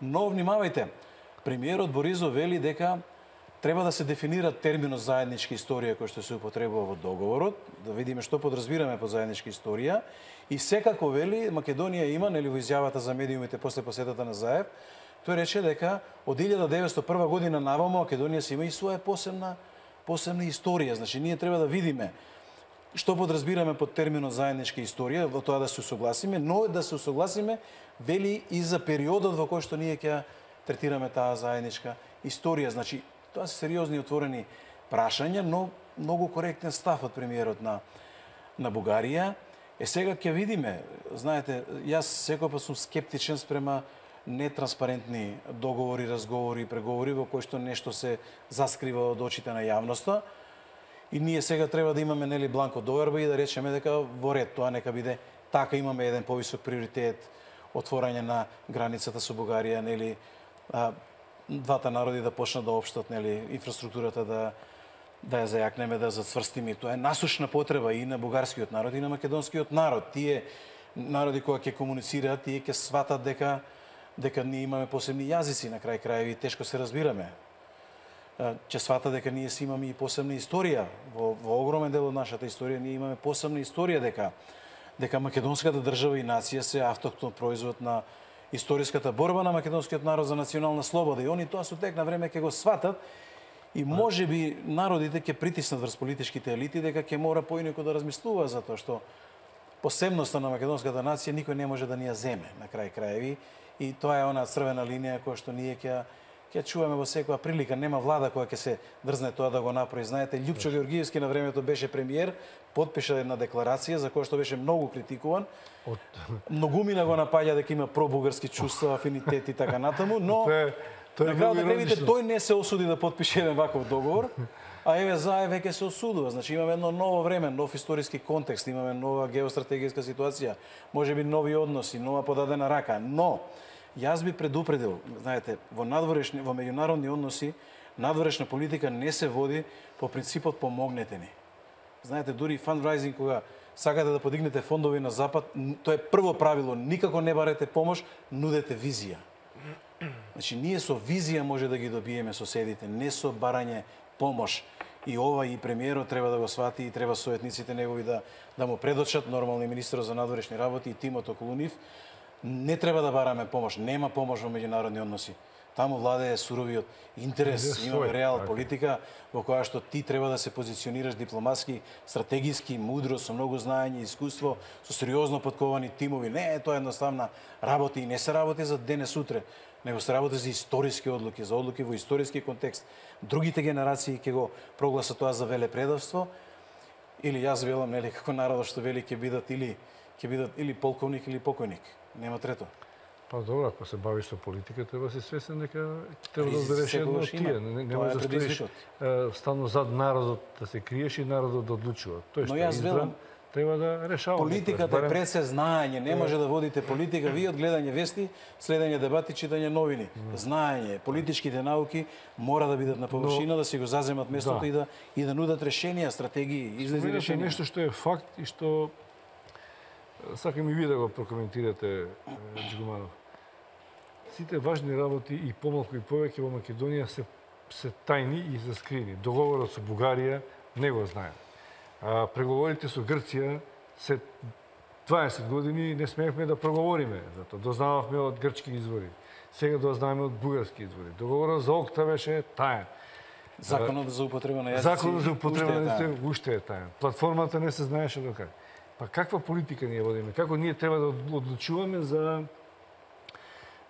но внимавајте. Премиерот Борисов вели дека треба да се дефинира терминот заедничка историја кој што се употребува во договорот, да видиме што подразбираме под заедничка историја и секако вели Македонија има нели во изјавата за медиумите после посетата на Заев, тој рече дека од илјада деветстотини и прва година наваму Македонија си има и своја посебна посебна историја, значи ние треба да видиме што подразбираме под терминот заедничка историја, во тоа да се согласиме, но да се согласиме вели и за периодот во кој што ние ќе третираме таа заедничка историја. Значи, тоа се сериозни отворени прашања, но многу коректен став од премиерот на, на Бугарија. Е, сега ќе видиме, знаете, јас секогаш сум скептичен спрема нетранспарентни договори, разговори, преговори во кои што нешто се заскрива од очите на јавноста. И ние сега треба да имаме нели бланко доверба и да речеме дека во ред тоа нека биде така, имаме еден повисок приоритет, отворање на границата со Бугарија, нели а, двата народи да почнат да општат, нели инфраструктурата да да ја зајакнеме, да зацврстиме. Тоа е насушна потреба и на бугарскиот народ и на македонскиот народ. Тие народи кои ќе комуницираат, тие ќе сватат дека дека ние имаме посебни јазици, на крај крајеви тешко се разбираме. Ќе свата дека ние си имаме и посебна историја. Во, во огромен дел од нашата историја ние имаме посебна историја дека дека македонската држава и нација се автохтон производ на историската борба на македонскиот народ за национална слобода. И они тоа со тек на време ќе го сватат и можеби народите ќе притиснат врз политичките елити дека ќе мора поинаку да размислува за тоа што посебноста на македонската нација никој не може да ни ја земе на крај краеви и тоа е она црвена линија која што ние ќе ќе чуваме во секоја прилика. Нема влада која ќе се дрзне тоа да го направи. Знаете, Љупчо Георгиевски на времето беше премиер, потпиша една декларација за која што беше многу критикуван. Од... Многумина го напаѓа дека има пробугарски чувства, афинитет и така натаму, но на крајот на крајвите тој не се осуди да потпише еден ваков договор, а еве заe веќе се осудува. Значи имаме едно ново време, нов историски контекст, имаме нова геостратегиска ситуација, можеби нови односи, нова подадена рака, но јас би предупредил, знаете, во надворешни, во меѓународни односи, надворешна политика не се води по принципот помогнете ни. Знаете, дури фандрайзинг кога сакате да подигнете фондови на запад, тоа е прво правило, никако не барете помош, нудете визија. Значи ние со визија може да ги добиеме соседите, не со барање помош. И ова и премиерот треба да го свати и треба советниците негови да да му предочат, нормално и министерот за надворешни работи и тимот околу нив. Не треба да бараме помош, нема помош во меѓународни односи. Таму владее суровиот интерес, имаме реал политика во која што ти треба да се позиционираш дипломатски, стратегиски, мудро, со многу знаење и искуство, со сериозно подковани тимови. Не е тоа едноставна работа и не се работи за денес утре, него се работи за историски одлуки, за одлуки во историски контекст. Другите генерации ќе го прогласат тоа за велепредавство, или јас велам, нели, како народот што вели ќе бидат или ќе бидат или полковник или покојник. Нема трето.
Па добро, ако се бавиш со политика, треба се свесен дека треба да одбереш едно од тие. Не, не може да стоиш стално зад народот да се криеш и народот да одлучува. Тој што е избран, треба да решава.
Политиката е пред се знаење, не може да водите политика вие од гледање вести, следење дебати, читање новини. Знаење, политичките науки мора да бидат на површина, да си го заземат местото да. и да и да нудат решенија, стратегии, излезни решенија.
Нешто што е факт и што сакам и вие да го прокоментирате, Джигуманов. Сите важни работи и помалку и повеќе во Македонија се се тајни и заскрини. Договорот со Бугарија не го знаеме. А преговорите со Грција се дваесет години не смеевме да проговориме, затоа дознававме од грчки извори. Сега дознаваме од бугарски извори. Договорот за ОКТА беше таен.
Законот за употреба на јазици.
Законот за употреба на јазици уште е таен. Платформата не се знаеше до кај. Па каква политика ние водиме? Како ние треба да одлучуваме за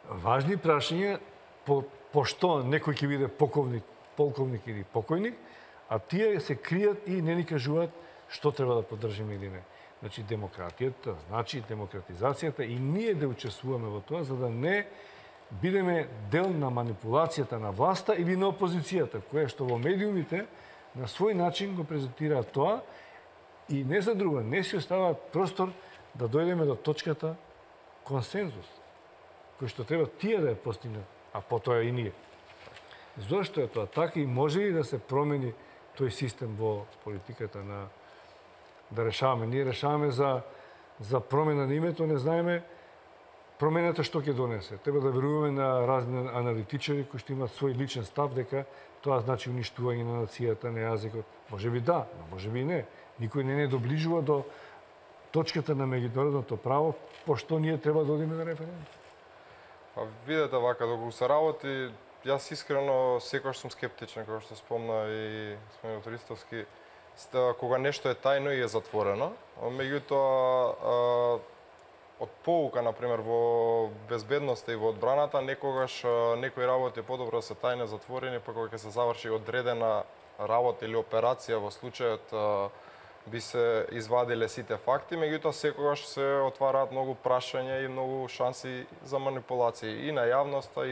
важни прашања по, по што некој ќе биде полковник, полковник или покојник, а тие се кријат и не ни кажуваат што треба да поддржиме или не. Значи демократијата, значи демократизацијата и ние да учествуваме во тоа за да не бидеме дел на манипулацијата на власта или на опозицијата, која што во медиумите на свој начин го презентираат тоа и не за друго, не си оставаат простор да дојдеме до точката консензус, кој што треба тие да ја постигнат, а потоа и ние. Зошто е тоа така и може ли да се промени тој систем во политиката на да решаваме? Ние решаваме за за промена на името, не знаеме промената што ќе донесе. Треба да веруваме на разни аналитичари кои што имаат свој личен став дека тоа значи уништување на нацијата, на јазикот. Можеби да, но можеби и не. Никој не не доближува до точката на меѓународното право, пошто ние треба да одиме на референдум.
Па видете вака, доколку се работи, јас искрено секогаш сум скептичен, како што спомна и спомнат Ристовски, кога нешто е тајно и е затворено. Меѓутоа, од поука, например, во безбедноста и во одбраната, некогаш некои работи е подобро да се тајно затворени, па кога ќе се заврши одредена работа или операција во случајот би се извадиле сите факти, меѓутоа секогаш се отвараат многу прашања и многу шанси за манипулации и на јавноста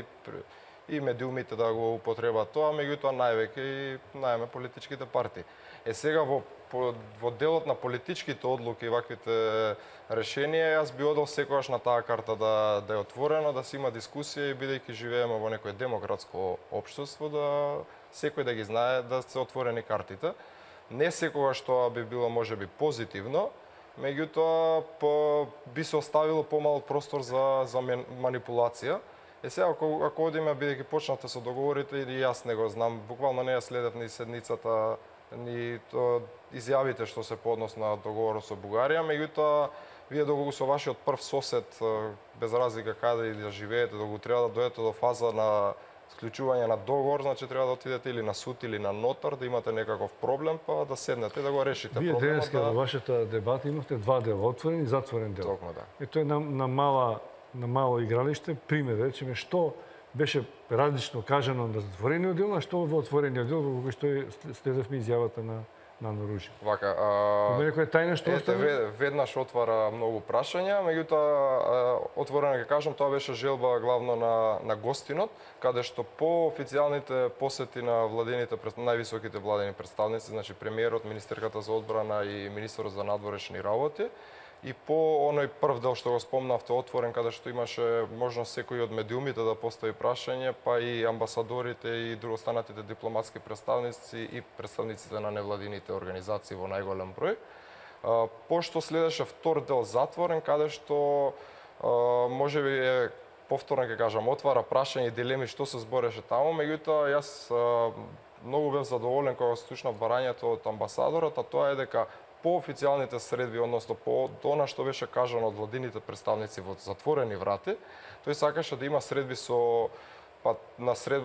и и медиумите да го употребат тоа, меѓутоа највеќе и најме политичките партии. Е сега во во делот на политичките одлуки и ваквите решенија, јас би одел секогаш на таа карта да да е отворено, да се има дискусија и бидејќи живееме во некое демократско општество, да секој да ги знае да се отворени картите. Не секогаш тоа би било можеби позитивно, меѓутоа по би се оставило помал простор за за манипулација. Е сега ако ако одиме бидејќи почнате со договорите или јас не го знам, буквално не ја следев ни седницата ни то изјавите што се по однос на договорот со Бугарија, меѓутоа вие доколку со вашиот прв сосед без разлика каде и да живеете, доколку треба да дојдете до фаза на склучување на договор, значи треба да отидете или на суд или на нотар, да имате некаков проблем, па да седнете и да го решите
вие
проблемот.
Вие денеска
да...
во вашата дебата имавте два дела, отворен и затворен дел.
Токму да.
И тоа е на, на мала на мало игралиште, пример, речеме, што беше различно кажано на затворениот дел, а што во отворениот дел, во кој што следевме изјавата на на Норужи.
Вака, а...
Има некоја тајна што
остави? Веднаш отвара многу прашања, меѓутоа отворено ќе кажам, тоа беше желба главно на на гостинот, каде што по официјалните посети на владините највисоките владени представници, значи премиерот, министерката за одбрана и министерот за надворешни работи, и по оној прв дел што го спомнавте отворен, каде што имаше можност секој од медиумите да постави прашање, па и амбасадорите и другостанатите дипломатски представници и представниците на невладините организации во најголем број. Пошто следеше втор дел затворен, каде што можеби е повторно ќе кажам, отвара прашање и дилеми што се збореше таму, меѓутоа јас многу бев задоволен кога слушнав барањето од амбасадорот, а тоа е дека по официјалните средби, односно по она што беше кажано од владините представници во затворени врати, тој сакаше да има средби со па на сред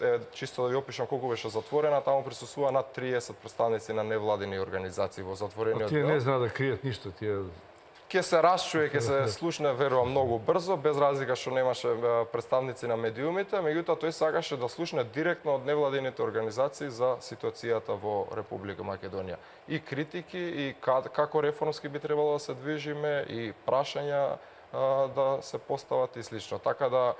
е, чисто да ви опишам колку беше затворена, таму присуствува над триесет представници на невладини организации во затворениот дел.
Тие не знаат да кријат ништо, тие
Ке се расчуе, ке се слушне, верувам, многу брзо, без разлика што немаше представници на медиумите, меѓутоа тој сакаше да слушне директно од невладините организации за ситуацијата во Република Македонија. И критики, и како реформски би требало да се движиме, и прашања да се постават и слично. Така да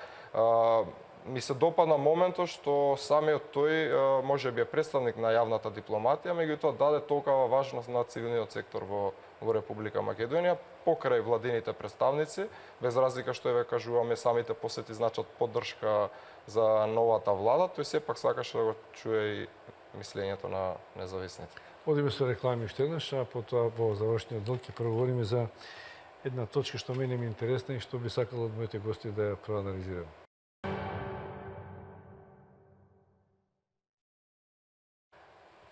ми се допадна моментот што самиот тој можеби е представник на јавната дипломатија, меѓутоа даде толкова важност на цивилниот сектор во во Република Македонија покрај владините представници, без разлика што еве кажуваме самите посети значат поддршка за новата влада, тој сепак сакаше да го чуе и мислењето на независните.
Одиме со реклами уште еднаш, а потоа во завршниот дел ќе проговориме за една точка што мене ми е интересна и што би сакал од моите гости да ја проанализирам.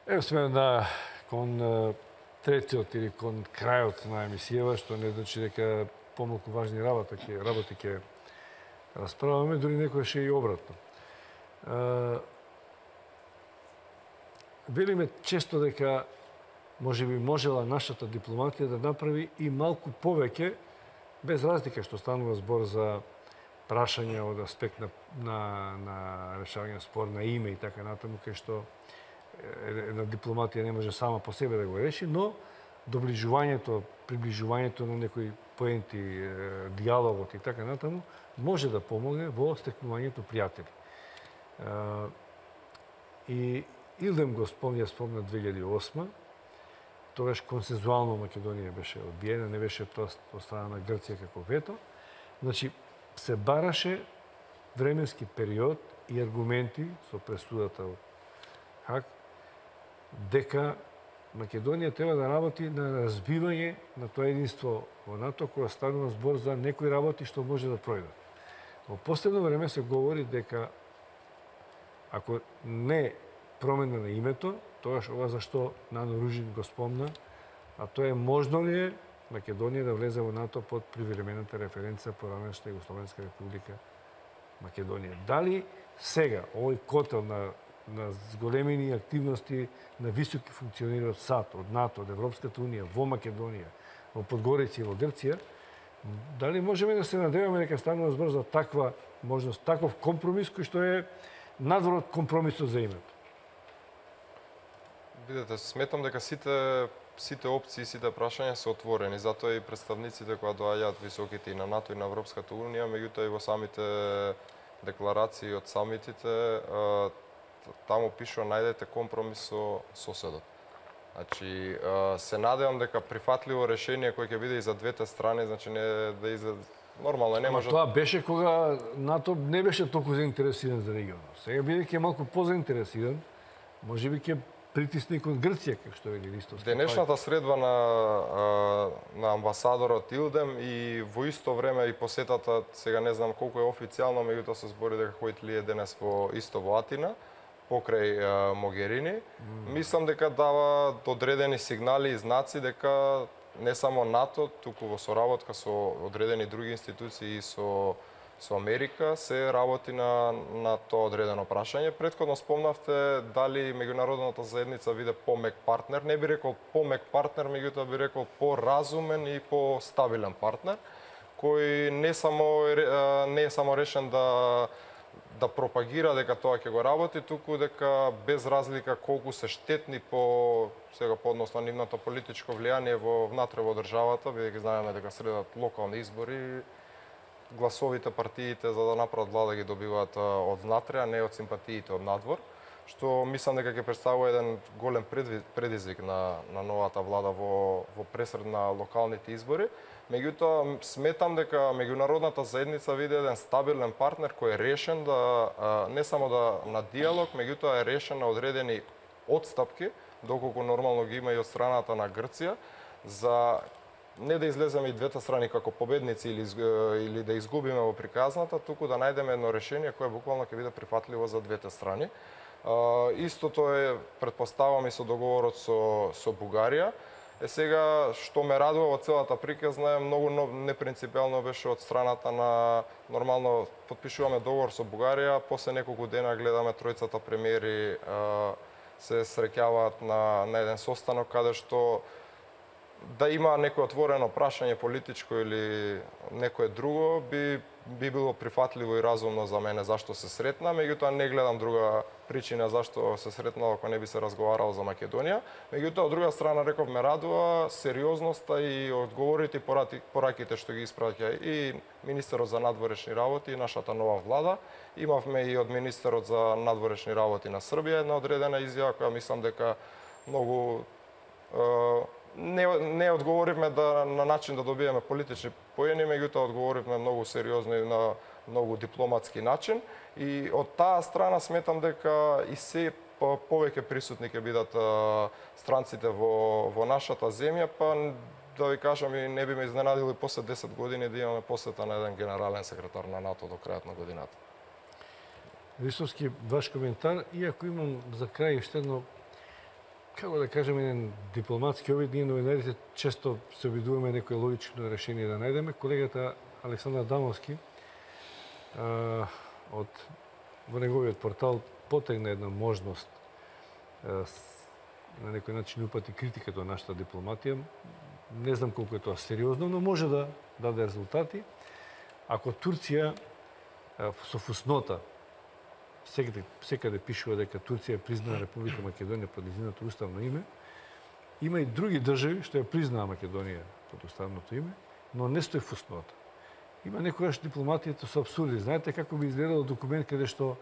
Ево сме на кон третиот или кон крајот на емисијава, што не значи дека помалку важни работи ќе работи ќе расправаме, дури некојаш и обратно. Велиме често дека можеби можела нашата дипломатија да направи и малку повеќе, без разлика што станува збор за прашања од аспект на, на, на решавање спор на име и така натаму, кај што една дипломатија не може сама по себе да го реши, но доближувањето, приближувањето на некои поенти, диалогот и така натаму, може да помогне во стекнувањето пријатели. И Илдем го спомня, спомна две илјади и осма, тогаш консензуално Македонија беше одбиена, не беше тоа од страна на Грција како вето. Значи, се бараше временски период и аргументи со пресудата од Хаг, дека Македонија треба да работи на разбивање на тоа единство во НАТО, кога станува збор за некои работи што може да пројдат. Во последно време се говори дека ако не промена на името, тогаш ова зашто Нано Ружин го спомна, а тоа е можно ли е Македонија да влезе во НАТО под привремената референца поранешна Југословенска република Македонија. Дали сега овој котел на на зголемени активности на високи функционери од САД, од НАТО, од Европската унија, во Македонија, во Подгорица и во Грција, дали можеме да се надеваме дека станува збор за таква можност, таков компромис кој што е надвор од компромисот за името?
Видете, сметам дека сите сите опции, сите прашања се отворени, затоа и представниците кои доаѓаат високите и на НАТО и на Европската унија, меѓутоа и во самите декларации од самитите, таму пишува најдете компромис со соседот. Значи, се надевам дека прифатливо решение кој ќе биде и за двете страни, значи не да излезе нормално не може.
Тоа беше кога НАТО не беше толку заинтересиран за регионот. Сега бидејќи е малку позаинтересиран, можеби ќе притисне кон Грција, како што вели Ристовски.
Денешната средба на на амбасадорот Илдем и во исто време и посетата, сега не знам колку е официјално, меѓутоа се збори дека Хојтли е денес во исто во Атина покрај Могерини. Mm. Мислам дека дава одредени сигнали и знаци дека не само НАТО, туку во соработка со одредени други институции и со со Америка се работи на на тоа одредено прашање. Претходно спомнавте дали меѓународната заедница биде помек партнер, не би рекол помек партнер, меѓутоа би рекол поразумен и постабилен партнер, кој не само не е само решен да да пропагира дека тоа ќе го работи, туку дека без разлика колку се штетни по сега по однос на нивното политичко влијание во внатре во државата, бидејќи знаеме дека средат локални избори, гласовите партиите за да направат влада ги добиваат од внатре, а не од симпатиите од надвор, што мислам дека ќе представува еден голем предизвик на на новата влада во во пресред на локалните избори. Меѓутоа, сметам дека меѓународната заедница види еден стабилен партнер кој е решен да не само да на диалог, меѓутоа е решен на одредени отстапки, доколку нормално ги има и од страната на Грција, за не да излеземе и двете страни како победници или или да изгубиме во приказната, туку да најдеме едно решение кое буквално ќе биде прифатливо за двете страни. Истото е, претпоставам, и со договорот со со Бугарија. Е сега, што ме радува во целата приказна е многу непринципиално беше од страната на нормално потпишуваме договор со Бугарија, после неколку дена гледаме тројцата премиери се среќаваат на на еден состанок каде што да има некој отворено прашање политичко или некое друго би би било прифатливо и разумно за мене зашто се сретна, меѓутоа не гледам друга причина зашто се сретнало ако не би се разговарало за Македонија. Меѓутоа, од друга страна, реков, ме радува сериозноста и одговорите и пораките што ги испраќа и министерот за надворешни работи и нашата нова влада. Имавме и од министерот за надворешни работи на Србија една одредена изјава која мислам дека многу не не одговоривме да на начин да добиеме политични поени, меѓутоа одговоривме многу сериозно и на многу дипломатски начин. И од таа страна сметам дека и се повеќе присутни ќе бидат странците во во нашата земја, па да ви кажам и не би ме изненадило после десет години да имаме посета на еден генерален секретар на НАТО до крајот на годината.
Ристовски, ваш коментар, иако имам за крај уште едно, како да кажем, еден дипломатски обид, ние новинарите често се обидуваме некој логично решение да најдеме. Колегата Александар Дамовски а, од во неговиот портал потегна една можност а, на некој начин упати критика до нашата дипломатија. Не знам колку е тоа сериозно, но може да даде резултати. Ако Турција а, со фуснота секаде, секаде пишува дека Турција признаа Република Македонија под незиното уставно име, има и други држави што ја признаа Македонија под уставното име, но не стои фуснота. Има некогаш дипломатијата со абсурди. Знаете како би изгледал документ каде што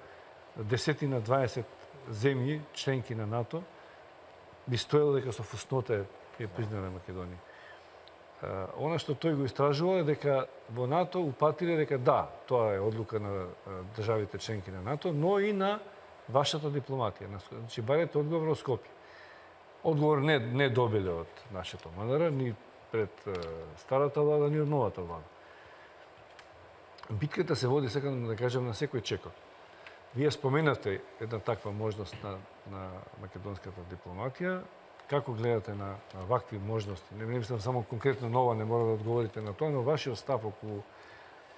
десетина дваесет земји, членки на НАТО, би стоело дека со фуснота е признана Македонија. Она што тој го истражува е дека во НАТО упатиле дека да, тоа е одлука на државите членки на НАТО, но и на вашата дипломатија. Значи, барете одговор од Скопје. Одговор не, не добиле од нашето МНР, ни пред старата влада, ни од новата влада. Битката се води, сега да кажем, на секој чекор. Вие споменавте една таква можност на, на македонската дипломатија. Како гледате на, на вакви можности? Не мислам само конкретно нова, не мора да одговорите на тоа, но вашиот став околу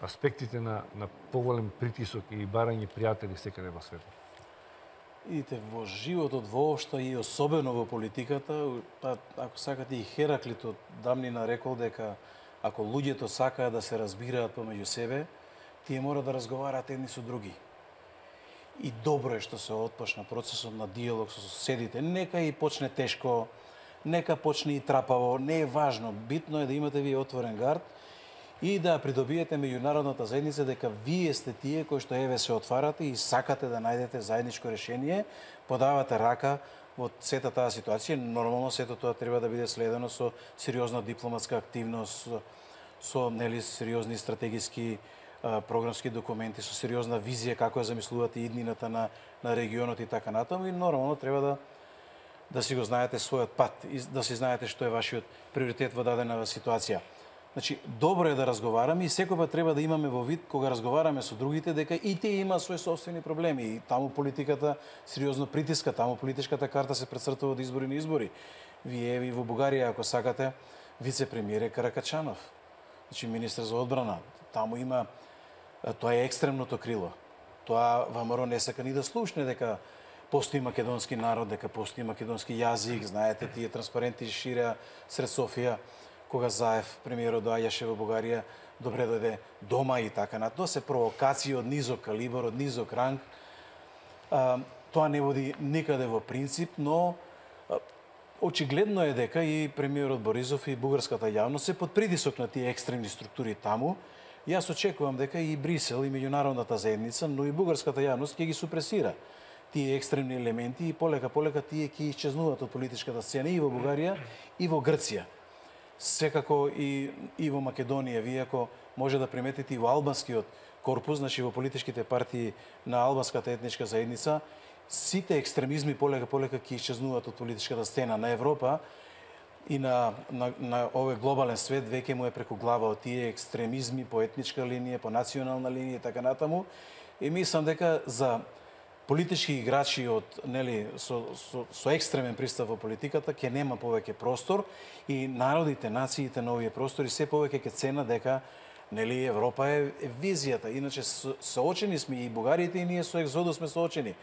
аспектите на, на поголем притисок и барање пријатели секаде во светот.
Идите, во животот воопшто и особено во политиката, па, ако сакате и Хераклит од давнина рекол дека ако луѓето сакаат да се разбираат помеѓу себе, тие мора да разговараат едни со други. И добро е што се отпочна процесот на диалог со соседите. Нека и почне тешко, нека почне и трапаво, не е важно. Битно е да имате вие отворен гард и да придобиете меѓународната заедница дека вие сте тие кои што еве се отварате и сакате да најдете заедничко решение, подавате рака во сета таа ситуација. Нормално сето тоа треба да биде следено со сериозна дипломатска активност, со, со нели сериозни стратегиски а, програмски документи, со сериозна визија како ја замислувате иднината на на регионот и така натаму, и нормално треба да да си го знаете својот пат и да си знаете што е вашиот приоритет во дадена ситуација. Значи, добро е да разговараме и секој пат треба да имаме во вид кога разговараме со другите дека и тие имаат свои собствени проблеми и таму политиката сериозно притиска, таму политичката карта се прецртува од избори на избори. Вие и во Бугарија, ако сакате, вице-премиер е Каракачанов, значи министер за одбрана. Таму има, тоа е екстремното крило. Тоа ВМРО не сака ни да слушне дека постои македонски народ, дека постои македонски јазик, знаете, тие транспаренти ширеа сред Софија, кога Заев, премиерот, доаѓаше во Бугарија, добре дојде дома и така на тоа се провокации од низок калибар, од низок ранг. А, тоа не води никаде во принцип, но а, очигледно е дека и премиерот Борисов и бугарската јавност се под притисок на тие екстремни структури таму. Јас очекувам дека и Брисел и меѓународната заедница, но и бугарската јавност ќе ги супресира тие екстремни елементи и полека полека тие ќе исчезнуваат од политичката сцена и во Бугарија и во Грција. Секако и, и во Македонија, вие ако може да приметите и во албанскиот корпус, значи во политичките партии на албанската етничка заедница, сите екстремизми полека полека ќе исчезнуваат од политичката сцена на Европа и на, на, на овој глобален свет, веќе му е преку глава од тие екстремизми по етничка линија, по национална линија и така натаму. И мислам дека за политички играчи од нели со, со, со екстремен пристап во политиката ќе нема повеќе простор и народите, нациите на овие простори се повеќе ќе ценат дека нели Европа е, е визијата. Иначе со, соочени сме и бугарите и ние со екзодус сме соочени.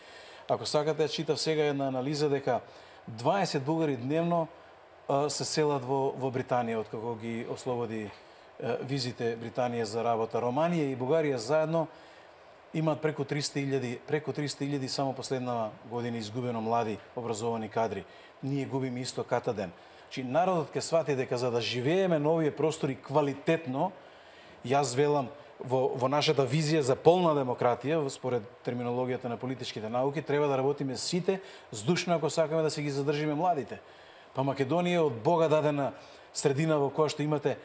Ако сакате, читав сега една анализа дека дваесет бугари дневно а, се селат во, во Британија откако ги ослободи а, визите Британија за работа. Романија и Бугарија заедно имаат преку триста илјади, преку триста илјади само последна година изгубено млади образовани кадри. Ние губиме исто ката ден. Чи народот ќе свати дека за да живееме на овие простори квалитетно, јас велам во, во нашата визија за полна демократија, според терминологијата на политичките науки, треба да работиме сите здушно ако сакаме да се ги задржиме младите. Па Македонија од Бога дадена средина во која што имате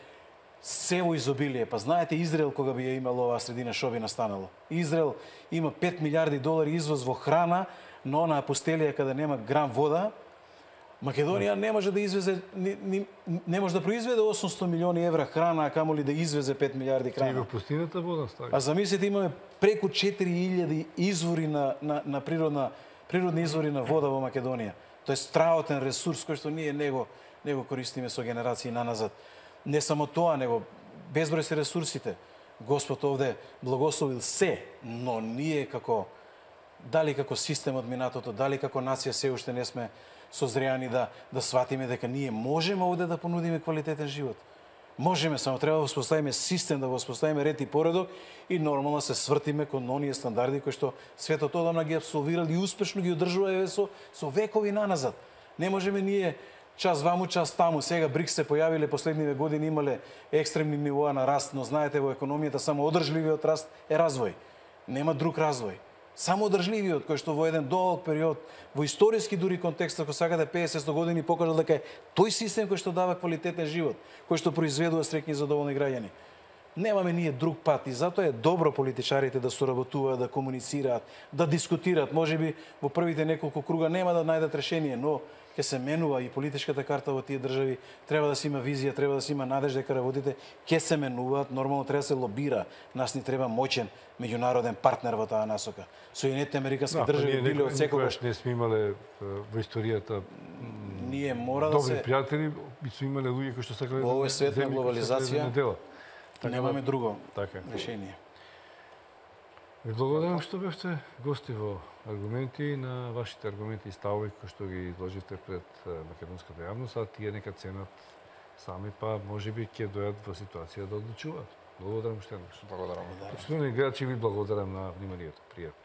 се во изобилие. Па знаете Израел кога би ја имало оваа средина што би настанало? Израел има пет милиарди долари извоз во храна, но на пустелија каде нема грам вода, Македонија не може да извезе не, не, не може да произведе осумстотини милиони евра храна, а камоли да извезе пет милиарди храна.
И во пустината вода стави.
А замислите, имаме преку четири илјади извори на, на, на природна природни извори на вода во Македонија. Тоа е страотен ресурс кој што ние него него користиме со генерации наназад. Не само тоа, него безброј се ресурсите. Господ овде благословил се, но ние како дали како систем од минатото, дали како нација се уште не сме созреани да да сватиме дека ние можеме овде да понудиме квалитетен живот. Можеме, само треба да воспоставиме систем, да воспоставиме ред и поредок и нормално се свртиме кон оние стандарди кои што светот одамна ги апсолвирали и успешно ги одржува еве со со векови наназад. Не можеме ние час ваму, час таму. Сега БРИКС се појавиле последниве години, имале екстремни нивоа на раст, но знаете во економијата само одржливиот раст е развој. Нема друг развој. Само одржливиот, кој што во еден долг период, во историски дури контекст, ако сакате песет години, покажал дека е тој систем кој што дава квалитетен живот, кој што произведува среќни и задоволни граѓани. Немаме ние друг пат и затоа е добро политичарите да соработуваат, да комуницираат, да дискутираат. Можеби во првите неколку круга нема да најдат решение, но ќе се менува и политичката карта во тие држави, треба да се има визија, треба да се има надеж дека работите ќе се менуваат, нормално треба да се лобира. Нас ни треба моќен меѓународен партнер во таа насока. Соединетите американски
да,
држави били од секогаш.
Не сме имале во историјата
ние мора да
добри
се
пријатели и сме имале луѓе кои што сакале
во овој свет на глобализација.
Така
немаме
да,
друго
така.
решение.
Ви благодарам што бевте гости во аргументи на вашите аргументи и ставови кои што ги изложите пред македонската јавност, а тие нека ценат сами, па можеби ќе дојдат во ситуација да одлучуваат. Благодарам уште еднаш.
Благодарам.
Почитувани гледачи, ви благодарам на вниманието. Пријатно.